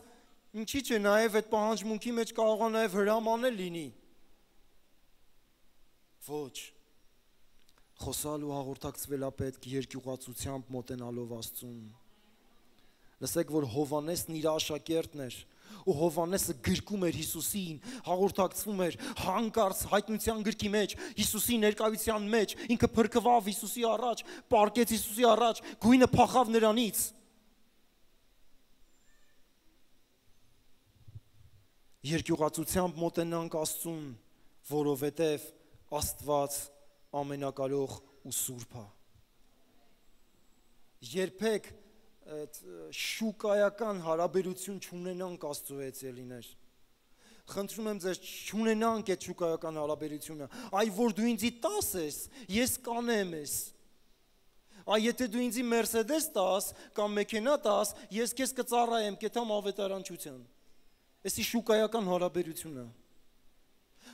ինչի՞ չէ նաև այդ պահանջմունքի մեջ կարող է նաև հրամանել լինի։ Ոչ, խոսալ ու հաղորդակցվել է պետք երկյուղացությամբ մոտենալով Աստծուն։ Լսեք, որ Հովհաննեսն իր աշակերտն էր, ու Հովհաննեսը գրկում էր Հիսուսին, հաղորդակցվում էր հանկարծ հայտնության գրքի մեջ, Հիսուսի ներկայության մեջ, ինքը փրկվավ Հիսուսի առաջ, պառկեց Հիսուսի առաջ, գույնը փախավ նրանից։ Երկյուղացությամբ մոտենանք Աստծուն, որովհետև Աստված ամենակարող ու սուրբ է։ Երբեք շուկայական հարաբերություն չունենանք Աստծո հետ, ելիներ։ Խնդրում եմ ձեզ, չունենանք այդ շուկայական հարաբերությունը, այ որ դու ինձի տաս ես, ես կանեմ ես։ Այ եթե դու ինձի Մերսեդես տաս կամ մեքենա տաս, ես քեզ կծառայեմ, կեթամ ավետարանչության։ Էսի շուկայական հարաբերությունը։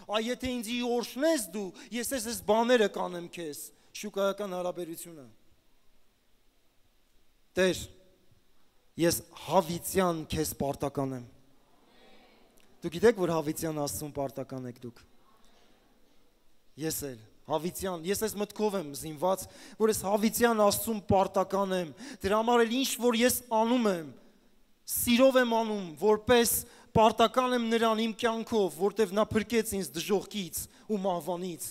Այ եթե ինձի օրհնես դու, ես այս բաները կանեմ քեզ, շուկայական հարաբերությունը։ Տեր, ես հավիտյան քեզ պարտական եմ։ Դու գիտեք, որ հավիտյան Աստծուն պարտական եք դուք։ Ես էլ հավիտյան, ես այս մտքով եմ զինված, որ ես հավիտյան Աստծուն պարտական եմ։ Դրա համար էլ ինչ որ ես անում եմ, սիրով եմ անում, որպես պարտական եմ նրան իմ կյանքով, որտեվ նա փրկեց ինձ դժոխքից ու մահվանից։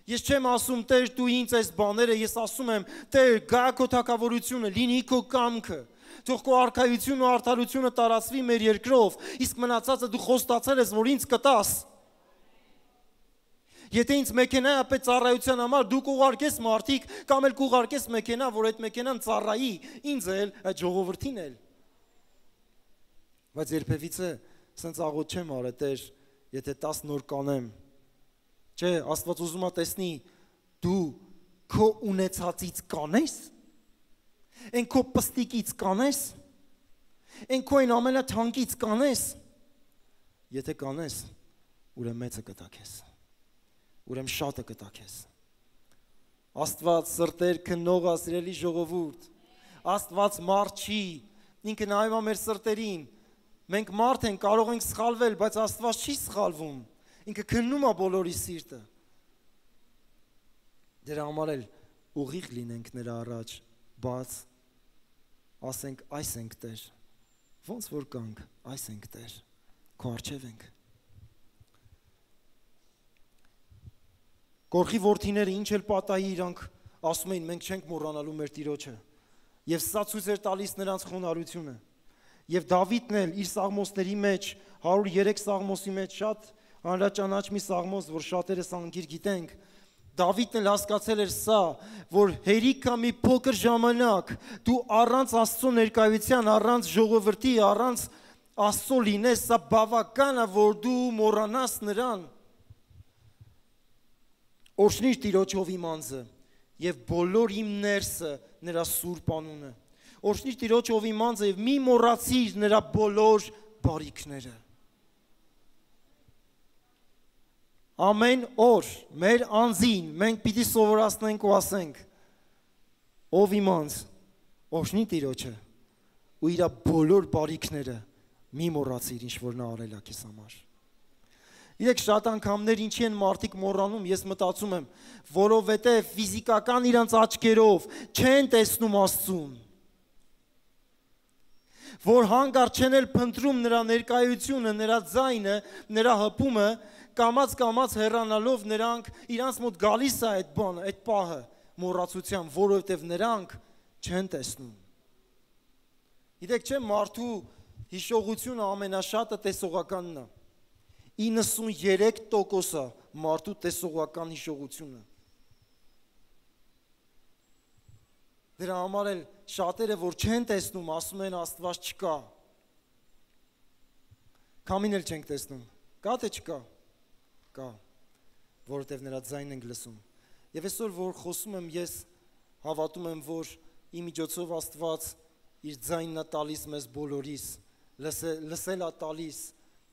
Ես չեմ ասում, Տեր, դու ինձ այս բաները, ես ասում եմ, Տեր, գա քո թագավորությունը, լինի քո կամքը։ Թող քո արքայությունը ու արդարությունը տարածվի մեր երկրով, իսկ մնացածը դու խոստացել ես, որ ինձ կտաս։ Եթե ինձ մեքենա է պետք ծառայության համար, դու կուղարկես մարդիկ կամ էլ կուղարկես մեքենա, որ այդ մեքենան ծառայի, ինձ էլ, այդ ժողովրդին էլ։ Բայց երբևիցե սենց աղոտ չեմ արել, Տեր, եթե 10 նոր կանեմ։ Չէ, Աստված ուզում է տեսնի, դու քո ունեցածից կանես։ Են քո պստիկից կանես, են քո այն ամենաթանկից կանես, եթե կանես, ուրեմն մեծը կտա քեզ, ուրեմն շատը կտա քեզ։ Աստված սրտեր քննող սիրելի ժողովուրդ, Աստված մարդ չի, ինքը նայում է մեր սրտերին, մենք մարդ ենք, կարող ենք սխալվել, բայց Աստված չի սխալվում, ինքը քննում է բոլորի սիրտը։ Դրա համար էլ ուղիղ լինենք նրա առաջ, բաց, ասենք այս ենք Տեր, ոնց որ կանք, այս ենք Տեր, քո առջև ենք։ Կորխի որդիները ինչ էլ պատահի իրանք ասում էին, մենք չենք մոռանալու մեր Տիրոջը, և սա ցույց էր տալիս նրանց խոնարհությունը։ Եվ Դավիթն էլ իր սաղմոսների մեջ, 103 սաղմոսի մեջ շատ հանրաճանաչ մի սաղմոս, որ շատերս անգիր գիտենք, Դավիթն էլ հասկացել էր սա, որ հերիքա մի փոքր ժամանակ դու առանց Աստծո ներկայության, առանց ժողովրդի, առանց Աստծո լինես, սա բավական է, որ դու մոռանաս նրան։ Օրհնիր Տիրոջով իմ անձը եւ բոլոր իմ ներսը նրա սուրբ անունը։ Օրհնիր Տիրոջով իմ անձը եւ մի մոռացիր նրա բոլոր բարիքները։ Ամեն օր մեր անձին մենք պիտի սովորացնենք ու ասենք. ով իմ անձ, օրհնի Տիրոջը ու իր բոլոր բարիքները մի մոռացիր, ինչ որ նա արել է քեզ համար։ Իրեք շատ անգամներ ինչի են մարդիկ մոռանում, ես մտածում եմ, որովհետև ֆիզիկական իրանց աչքերով չեն տեսնում Աստծուն, որ հանկարծ չեն էլ փնտրում նրա ներկայությունը, նրա ձայնը, նրա հպումը, կամաց հեռանալով նրանք իրանց մոտ գալիս է այդ բանը, այդ պահը մոռացության, որովհետև նրանք չեն տեսնում։ Գիտեք չէ, մարդու հիշողությունը ամենաշատը տեսողականն է։ 93% մարդու տեսողական հիշողությունը։ Դրա համար էլ շատերը, որ չեն տեսնում, ասում են Աստված չկա։ Քամին էլ չենք տեսնում։ Կա թե չկա։ Կա, որովհետև նրա ձայնն ենք լսում։ Եվ այսօր, որ խոսում եմ, ես հավատում եմ, որ ի միջոցով Աստված իր ձայնն է տալիս մեզ բոլորիս, լսել է տալիս։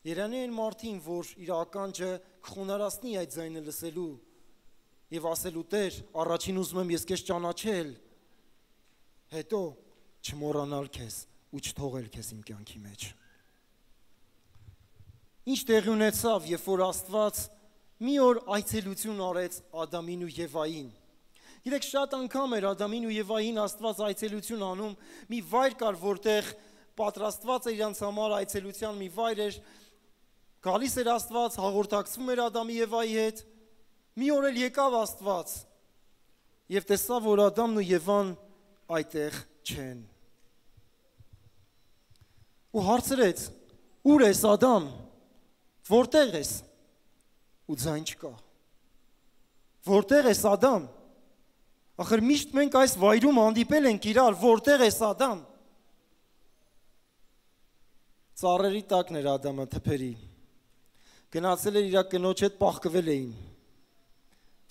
Երանի այն մարդին, որ իր ականջը կխոնարհացնի այդ ձայնը լսելու եւ ասելու Տեր, առաջին ուզում եմ ես քեզ ճանաչել, հետո չմոռանալ քեզ ու չթողել քեզ իմ կյանքի մեջ։ Ինչ տեղի ունեցավ, երբ որ Աստված մի օր այցելություն արեց Ադամին ու Եվային։ Գիտեք, շատ անգամ էր Ադամին ու Եվային Աստված այցելություն անում, մի վայր կար, որտեղ պատրաստված էր իրանց համար այցելության մի վայր էր, գալիս էր Աստված, հաղորդակցվում էր Ադամի Եվայի հետ, մի օր էլ եկավ Աստված եւ տեսավ, որ Ադամն ու Եվան այդտեղ չեն։ Ու հարցրեց. «Ուր ես Ադամ, որտեղ ես»։ Ու ձայն չկա։ «Որտեղ ես Ադամ»։ Ախր միշտ մենք այս վայրում հանդիպել ենք իրար, որտեղ է Ադամ։ Ծառերի տակն էր Ադամը թփերի։ Գնացել էր իր կնոջ հետ պաղկվել էին,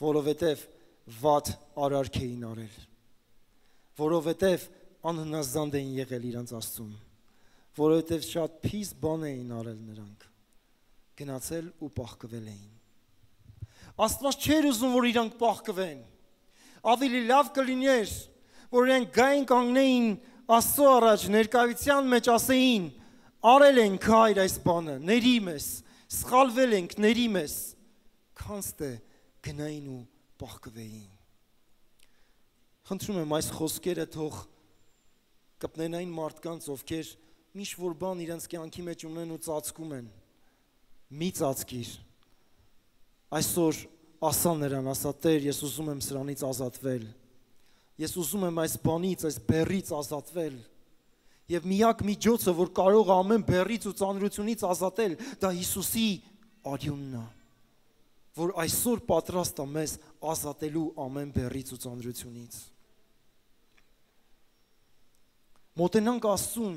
որովհետև վատ արարք էին արել, որովհետև անհնազանդ էին եղել իրանց Աստծուն, որովհետև շատ փիս բան էին արել նրանք, գնացել ու պաղկվել էին։ Աստված չէր ուզում, որ իրանք պաղկվեն, ավելի լավ կլիներ, որ իրենք գային կանգնեին Աստծո առաջ ներկայության մեջ ասեին, արել ենք հայր այս բանը, ների մեզ, սխալվել ենք, ների մեզ, քանց թե գնային ու պաղկվեին։ Խնդրում եմ այս խոսքերը թող կպնեն այն մարդկանց, ովքեր միշտ որ բան իրենց կյանքի մեջ ունեն ու ծածկում են, մի ծածկիր, այսօր ասա նրան, ասա Տեր, ես ուզում եմ սրանից ազատվել, ես ուզում եմ այս բանից, այս բեռից ազատվել, և միակ միջոցը, որ կարող ամեն բեռից ու ծանրությունից ազատել, դա Հիսուսի արյունն է, որ այսօր պատրաստ է մեզ ազատելու ամեն բեռից ու ծանրությունից։ Մոտենանք Աստծուն,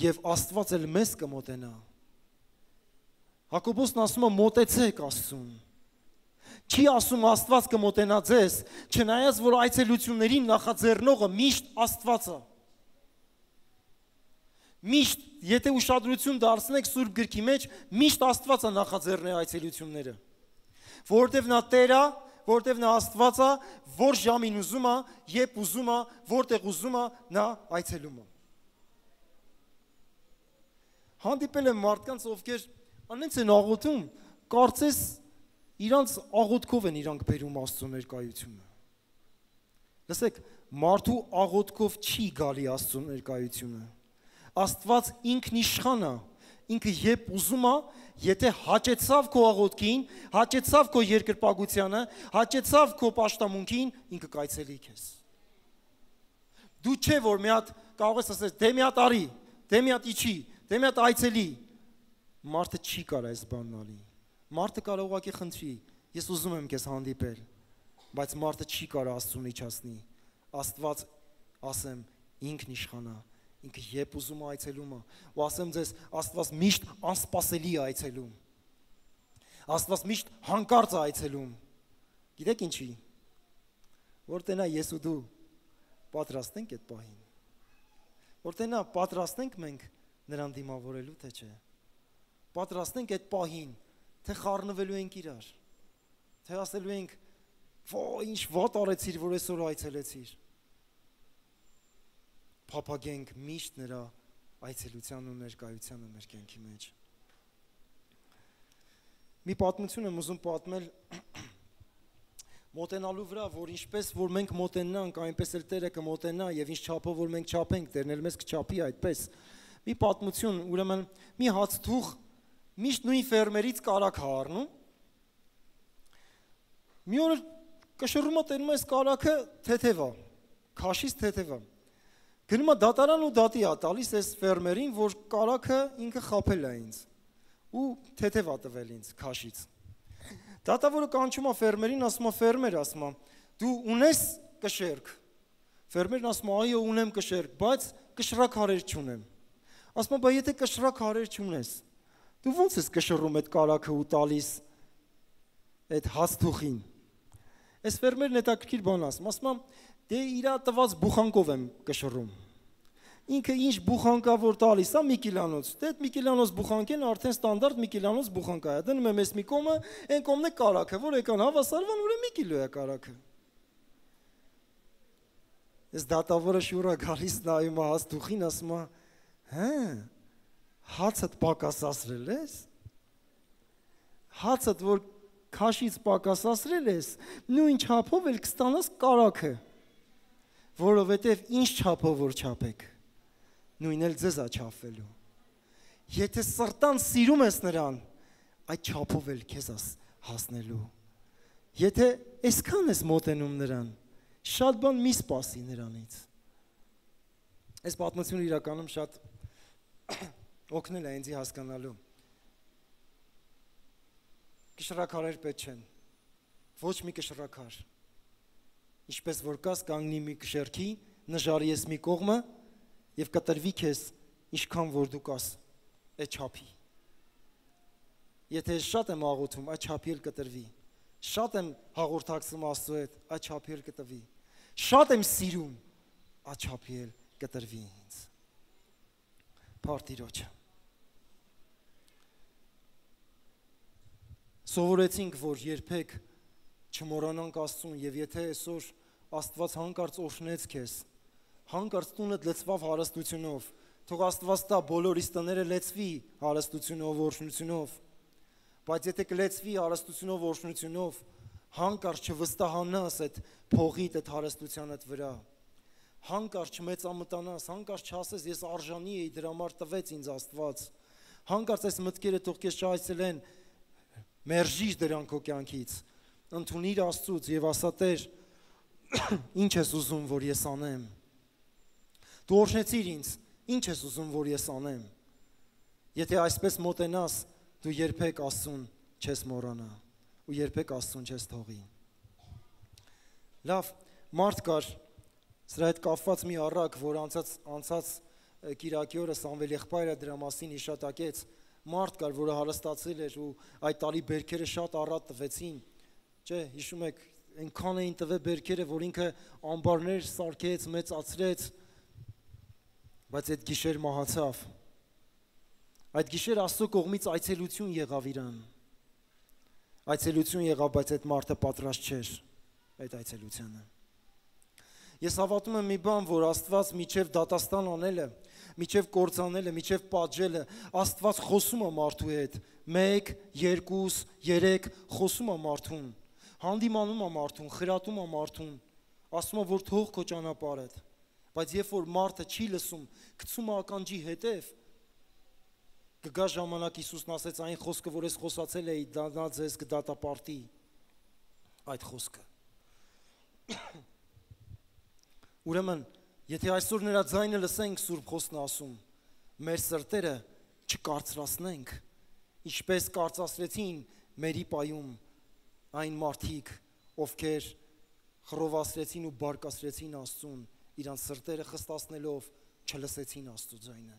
և Աստված էլ մեզ կմոտենա։ Հակոբոսն ասում է մոտեցեք Աստծուն։ Չի ասում Աստված կմոտենա ձեզ, չնայած որ այցելություններին նախաձեռնողը միշտ Աստված է։ Միշտ, եթե ուշադրություն դարձնեք Սուրբ գրքի մեջ, միշտ Աստված է նախաձեռնել այցելությունները։ Որովհետև նա Տեր է, որովհետև նա Աստված է, որ ժամին ուզում է, երբ ուզում է, որտեղ ուզում է, նա այցելում է։ Հանդիպել եմ մարդկանց, ովքեր անենց են աղոթում, կարծես իրանց աղոթքով են իրանք բերում Աստծո ներկայությունը։ Լսեք, մարդու աղոթքով չի գալի Աստծո ներկայությունը։ Աստված ինքն իշխան է, ինքը երբ ուզում է, եթե հաճեցավ քո աղոթքին, հաճեցավ քո երկրպագությանը, հաճեցավ քո պաշտամունքին, ինքը կայցելի քեզ։ Դու չէ որ մի հատ կարող ես ասես, դե մի հատ արի, դե մի հատ իջի, դե մի հատ այցելի։ Մարդը չի կարող այս բանն անի։ Մարդը կարող ուղղակի խնդրի, ես ուզում եմ քեզ հանդիպել, բայց մարդը չի կարող Աստծուն իջացնի։ Աստված, ասեմ, ինքն իշխան է, ինքը երբ ուզում է այցելում է, ու ասեմ ձեզ, Աստված միշտ անսպասելի է այցելում։ Աստված միշտ հանկարծ է այցելում։ Գիտեք ինչի։ Որտեղ նա ես ու դու պատրաստ ենք այդ պահին։ Որտեղ նա պատրաստ ենք մենք նրան դիմավորելու, թե չէ։ Պատրաստ ենք այդ պահին, թե խառնվելու ենք իրար, թե ասելու ենք, ինչ վատ արեցիր, որ այսօր այցելեցիր։ Փափագենք միշտ նրա այցելության ու ներկայությանը մեր կյանքի մեջ։ Մի պատմություն եմ ուզում պատմել մոտենալու վրա, որ ինչպես որ մենք մոտենանք, այնպես էլ Տերը կմոտենա եւ ինչ չափով որ մենք չափենք, Տերն էլ մեզ կչափի այդպես։ Մի պատմություն, ուրեմն մի հացթուղ միշտ նույն ֆերմերից կարագ է առնում։ Մի օր կշռում է տենում այս կարագը թեթև է, քաշից թեթև է։ Գնում է դատարան ու դատի է տալիս այս ֆերմերին, որ կարագը ինքը խաբել է ինձ ու թեթև է տվել ինձ քաշից։ Դատավորը կանչում է ֆերմերին, ասում է ֆերմեր, ասում է, դու ունես կշերք։ Ֆերմերն ասում է, այո, ունեմ կշերք, բայց կշռաքարեր չունեմ։ Ասում է, բա եթե կշռաքարեր չունես, դու ո՞նց ես կշռում այդ կարագը ու տալիս այդ հացթուղին։ Այս ֆերմերն հետաքրքիր բան ասում է, դե իրա տված բուխանկով եմ կշռում։ Ինքը ինչ բուխանկա որ տալիս է մի կիլանոց, դե այդ մի կիլանոց բուխանկեն արդեն ստանդարտ մի կիլանոց բուխանկա է, դնում եմ այս մի կոմը, այն կոմն է կարագը, որ եկան հավասարվան, ուրեմն մի կիլո է կարագը։ Այս դատավորը շուրա գալիս նայում է հացթուղին, ասում է, հա, հացդ պակասացրել ես, հացդ որ քաշից պակասացրել ես, նույն չափով էլ կստանաս կարագը, որովհետև ինչ չափով որ չափեք, նույն էլ ձեզ է չափվելու։ Եթե սրտան սիրում ես նրան, այդ չափով էլ քեզ հասնելու։ Եթե այսքան ես մոտենում նրան, շատ բան մի սպասի նրանից։ Այս պատմությունը իրականում շատ օգնել է ինձ հասկանալու։ Կշռաքարեր պետք չեն, ոչ մի կշռաքար։ Ինչպես որ կաս կանգնի մի շերքի, նժարի ես մի կողմը եւ կտրվի քեզ ինչքան որ դու կաս այդ չափի։ Եթե շատ եմ աղոթում, այդ չափի էլ կտրվի։ Շատ եմ հաղորդակցում Աստծո հետ, այդ չափի էլ կտրվի։ Շատ եմ սիրում, այդ չափի էլ կտրվի ինձ։ Փառք Սովորեցինք, որ երբեք չմոռանանք Աստծուն, եւ եթե այսօր Աստված հանկարծ օրհնեց քեզ, հանկարծ տունդ լցվավ հարստությունով, թող Աստված տա բոլորիս տները լեցվի հարստությունով, օրհնությունով, բայց եթե կլեցվի հարստությունով, օրհնությունով, հանկարծ չվստահանաս այդ փողիդ, այդ հարստությանդ վրա, հանկարծ չմեծամտանաս, հանկարծ չասես ես արժանի էի, դրա համար տվեց ինձ Աստված, հանկարծ այս մտքերը թող քեզ չայցելեն, մերժիր դրանք քո կյանքից, ընդունիր Աստծուց եւ ասա Տեր, ինչ ես ուզում, որ ես անեմ։ Դու օրհնեցիր ինձ, ինչ ես ուզում, որ ես անեմ։ Եթե այսպես մոտենաս, դու երբեք Աստծուն չես մոռանա ու երբեք Աստծուն չես թողի։ Լավ, մարդ կար, սրա հետ կապված մի առակ, որ անցած Կիրակի օրը Սամվել եղբայրը դրա մասին հիշատակեց, մարդ կար, որը հարստացել էր ու այդ տարի բերքերը շատ առատ տվեցին, չէ, հիշում եք, այնքան էին տվել բերքերը, որ ինքը ամբարներ սարքեց, մեծացրեց, բայց այդ գիշեր մահացավ։ Այդ գիշեր Աստծո կողմից այցելություն եղավ իրան։ Այցելություն եղավ, բայց այդ մարդը պատրաստ չէր այդ այցելությանը։ Ես հավատում եմ մի բան, որ Աստված միջև դատաստան անելը, միջև կործանելը, միջև պատժելը, Աստված խոսում է մարդու հետ, 1, 2, 3 խոսում է մարդուն, հանդիմանում է մարդուն, խրատում է մարդուն, ասում է, որ թող քո ճանապարհդ, բայց երբ որ մարդը չի լսում, գցում է ականջի հետև, կգա ժամանակ Հիսուսն ասեց այն խոսքը, որ ես խոսացել էի, դա ձեզ կդատապարտի այդ խոսքը։ Ուրեմն, եթե այսօր նրա ձայնը լսենք, Սուրբ Խոսքն ասում, մեր սրտերը չկարծրացնենք, ինչպես կարծացրեցին մերի պայում այն մարդիկ, ովքեր խռովացրեցին ու բարկացրեցին Աստծուն, իրանց սրտերը խստացնելով չլսեցին Աստծո ձայնը։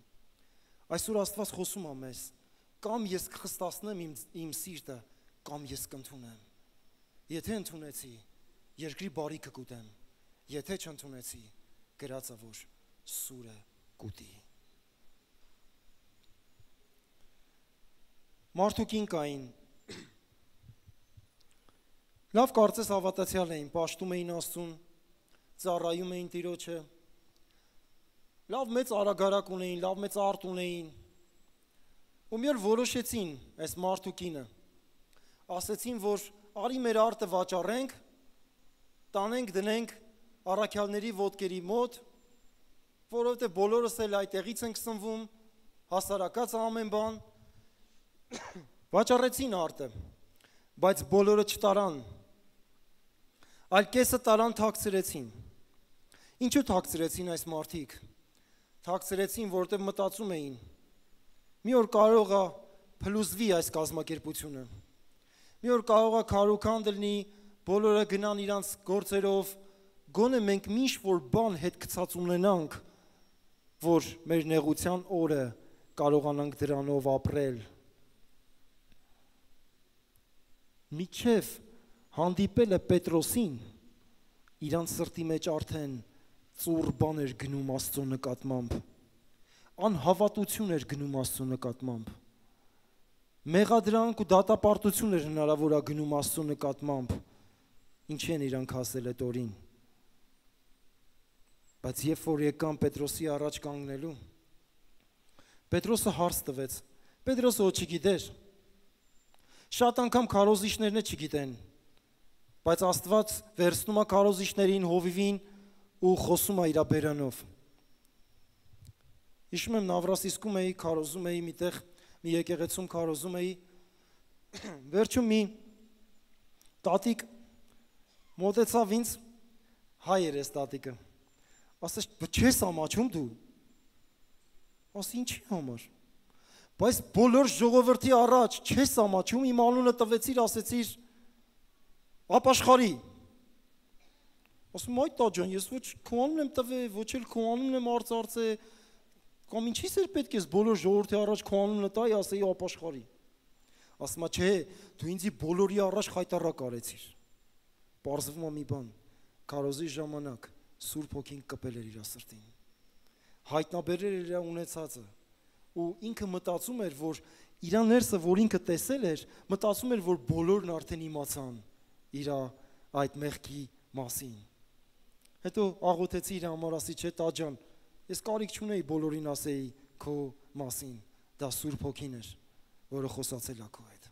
Այսօր Աստված խոսում է մեզ, կամ ես կխստացնեմ իմ սիրտը, կամ ես կընդունեմ։ Եթե ընդունեցի, երկրի բարիքը կուտեմ, եթե չընդունեցի, գրածը որ սուրը կուտի։ Մարդուկին կային, լավ կարծես հավատացյալ էին, պաշտում էին Աստծուն, ծառայում էին Տիրոջը, լավ մեծ արագարակ ունեին, լավ մեծ արտ ունեին, ու մի օր որոշեցին այս մարդուկինը, ասեցին, որ արի մեր արտը վաճառենք, տանենք, դնենք առաքյալների ոտքերի մոտ, որովհետև բոլորս էլ այդտեղից ենք սնվում, հասարակած ամեն բան, վաճառեցին արտը, բայց բոլորը չտարան, այլ կեսը տարան թաքցրեցին։ Ինչու թաքցրեցին այս մարդիկ։ Թաքցրեցին, որտեղ մտածում էին, մի օր կարող է փլուզվի այս կազմակերպությունը, մի օր կարող է քարոքան դլնի, բոլորը գնան իրանց գործերով, գոնե մենք միշտ որ բան հետ գցած ունենանք, որ մեր նեղության օրը կարողանանք դրանով ապրել։ Միջև հանդիպելը Պետրոսին, իրանց սրտի մեջ արդեն ծուռ բան էր գնում Աստծո նկատմամբ, անհավատություն էր գնում Աստծո նկատմամբ, մեղադրանք ու դատապարտություն էր հնարավոր է գնում Աստծո նկատմամբ, ինչի են իրանք ասել այդ օրին։ Բայց երբ որ եկան Պետրոսի առաջ կանգնելու, Պետրոսը հարց տվեց, Պետրոսը ոչ չգիտեր, շատ անգամ քարոզիչներն չգիտեն, բայց Աստված վերցնում է քարոզիչներին, հովիվին ու խոսում է իր բերանով։ Հիշում եմ Նավրասիսկում էի, քարոզում էի միտեղ, մի եկեղեցում քարոզում էի, վերջում մի տատիկ մոտեցավ ինձ, հայ էր էս տատիկը, ասեց, չես ամաչում դու, ասի ինչի համար, բայց բոլոր ժողովրդի առաջ չես ամաչում, իմ անունը տվեցիր, ասեցիր ապաշխարի, Ասում այ տա ջան, ես ոչ քո անունն եմ տվել, ոչ էլ քո անունն եմ արծարծել, կամ ինչի՞ս էր պետք է բոլոր ժողովրդի առաջ քո անունը տայի, ասեի ապաշխարի։ Ասում է, չէ, դու ինձի բոլորի առաջ խայտարակ արեցիր։ Պարզվում է մի բան, քարոզի ժամանակ Սուրբ Հոգին կպել էր իր սրտին։ Հայտնաբերել էր իր ունեցածը, ու ինքը մտածում էր, որ իր ներսը, որ ինքը տեսել էր, մտածում էր, որ բոլորն արդեն իմացան իր այդ մեղքի մասին։ Հետո աղոթեցի իր համար, ասի, չէ, տա ջան, ես կարիք չունեի բոլորին ասեի քո մասին, դա Սուրբ Հոգին էր, որը խոսացել է քո հետ։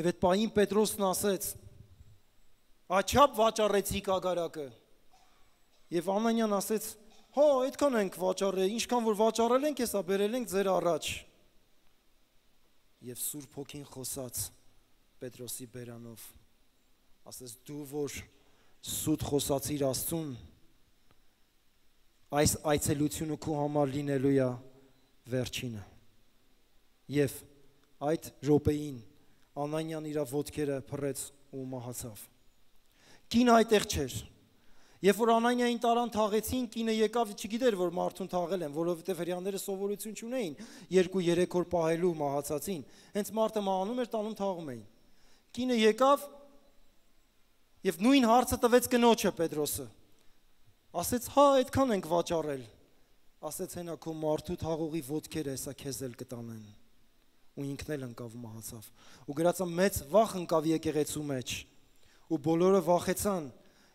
Եվ այդ պահին Պետրոսն ասեց. «Աչափ վաճառեցիք ագարակը»։ Եվ Անանյան ասեց. «Հո, այդքան ենք վաճառել, ինչքան որ վաճառել ենք, հեսա բերել ենք ձեր առաջ»։ Եվ Սուրբ Հոգին խոսաց Պետրոսի բերանով, ասեց. «Դու որ սուտ խոսացիր Աստծուն, այս այցելությունը քո համար լինելու է վերջինը»։ Եվ այդ րոպեին Անանյան իր ոտքերը փռեց ու մահացավ։ Կինը այդտեղ չէր։ Երբ որ Անանիային տարան թաղեցին, կինը եկավ, չգիտեր, որ մարդուն թաղել են, որովհետև հрьяաները սովորություն չունեին 2-3 օր պահելու մահացածին։ Հենց մարդը մահանում էր, տանում թաղում էին։ Կինը եկավ եւ նույն հարցը տվեց կնոջը Պետրոսը։ Ասեց. «Հա, այդքան ենք վաճառել»։ Ասեց. «Հենա քո մարդու թաղողի ոտքերը հեսա քեզ էլ կտանեն»։ Ու ինքն էլ ընկավ ու մահացավ։ Ու գրածա մեծ վախ ընկավ եկեղեցու մեջ։ Ու բոլորը վախեցան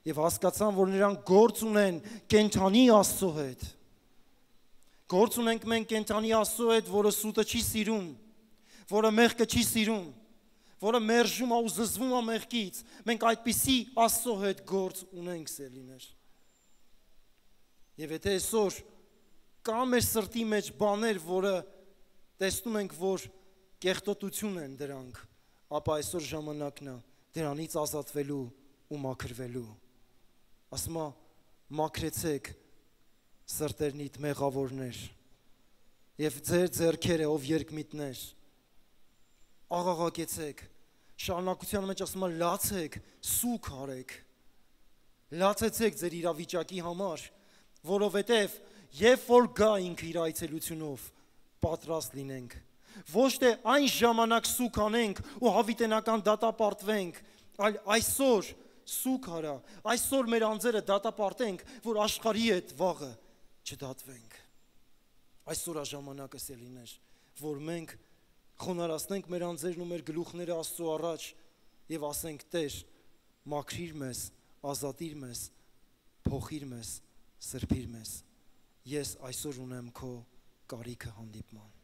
եւ հասկացան, որ նրանք գործ ունեն կենթանի Աստծո հետ։ Գործ ունենք մենք կենթանի Աստծո հետ, որը սուտը չի սիրում, որը մեղքը չի սիրում, որը մերժում է ու զզվում է մեղքից։ Մենք այդպիսի Աստծո հետ գործ ունենք, սիրելիներ։ Եվ եթե այսօր կա մեր սրտի մեջ բաներ, որը տեսնում ենք, որ կեղտոտություն են դրանք, ապա այսօր ժամանակն է դրանից ազատվելու ու մաքրվելու։ Ասում է, մաքրեցեք սրտերնիդ մեղավորներ եւ ձեր ձեռքերը, ով երկմիտներ, աղաղակեցեք, շարունակության մեջ ասում է, լացեք, սուք արեք, լացեցեք ձեր իրավիճակի համար, որովհետև երբ որ գա ինքը իր այցելությունով, պատրաստ լինենք, ոչ թե այն ժամանակ սուք անենք ու հավիտենական դատապարտվենք, այլ այսօր սուք արա, այսօր մեր անձերը դատապարտենք, որ աշխարհի հետ վաղը չդատվենք։ Այսօր է ժամանակը, սիրելիներ, որ մենք խոնարհացնենք մեր անձերն ու մեր գլուխները Աստծո առաջ եւ ասենք. Տեր, մաքրիր մեզ, ազատիր մեզ, փոխիր մեզ, սրբիր մեզ։ Ես այսօր ունեմ քո կարիքը հանդիպման։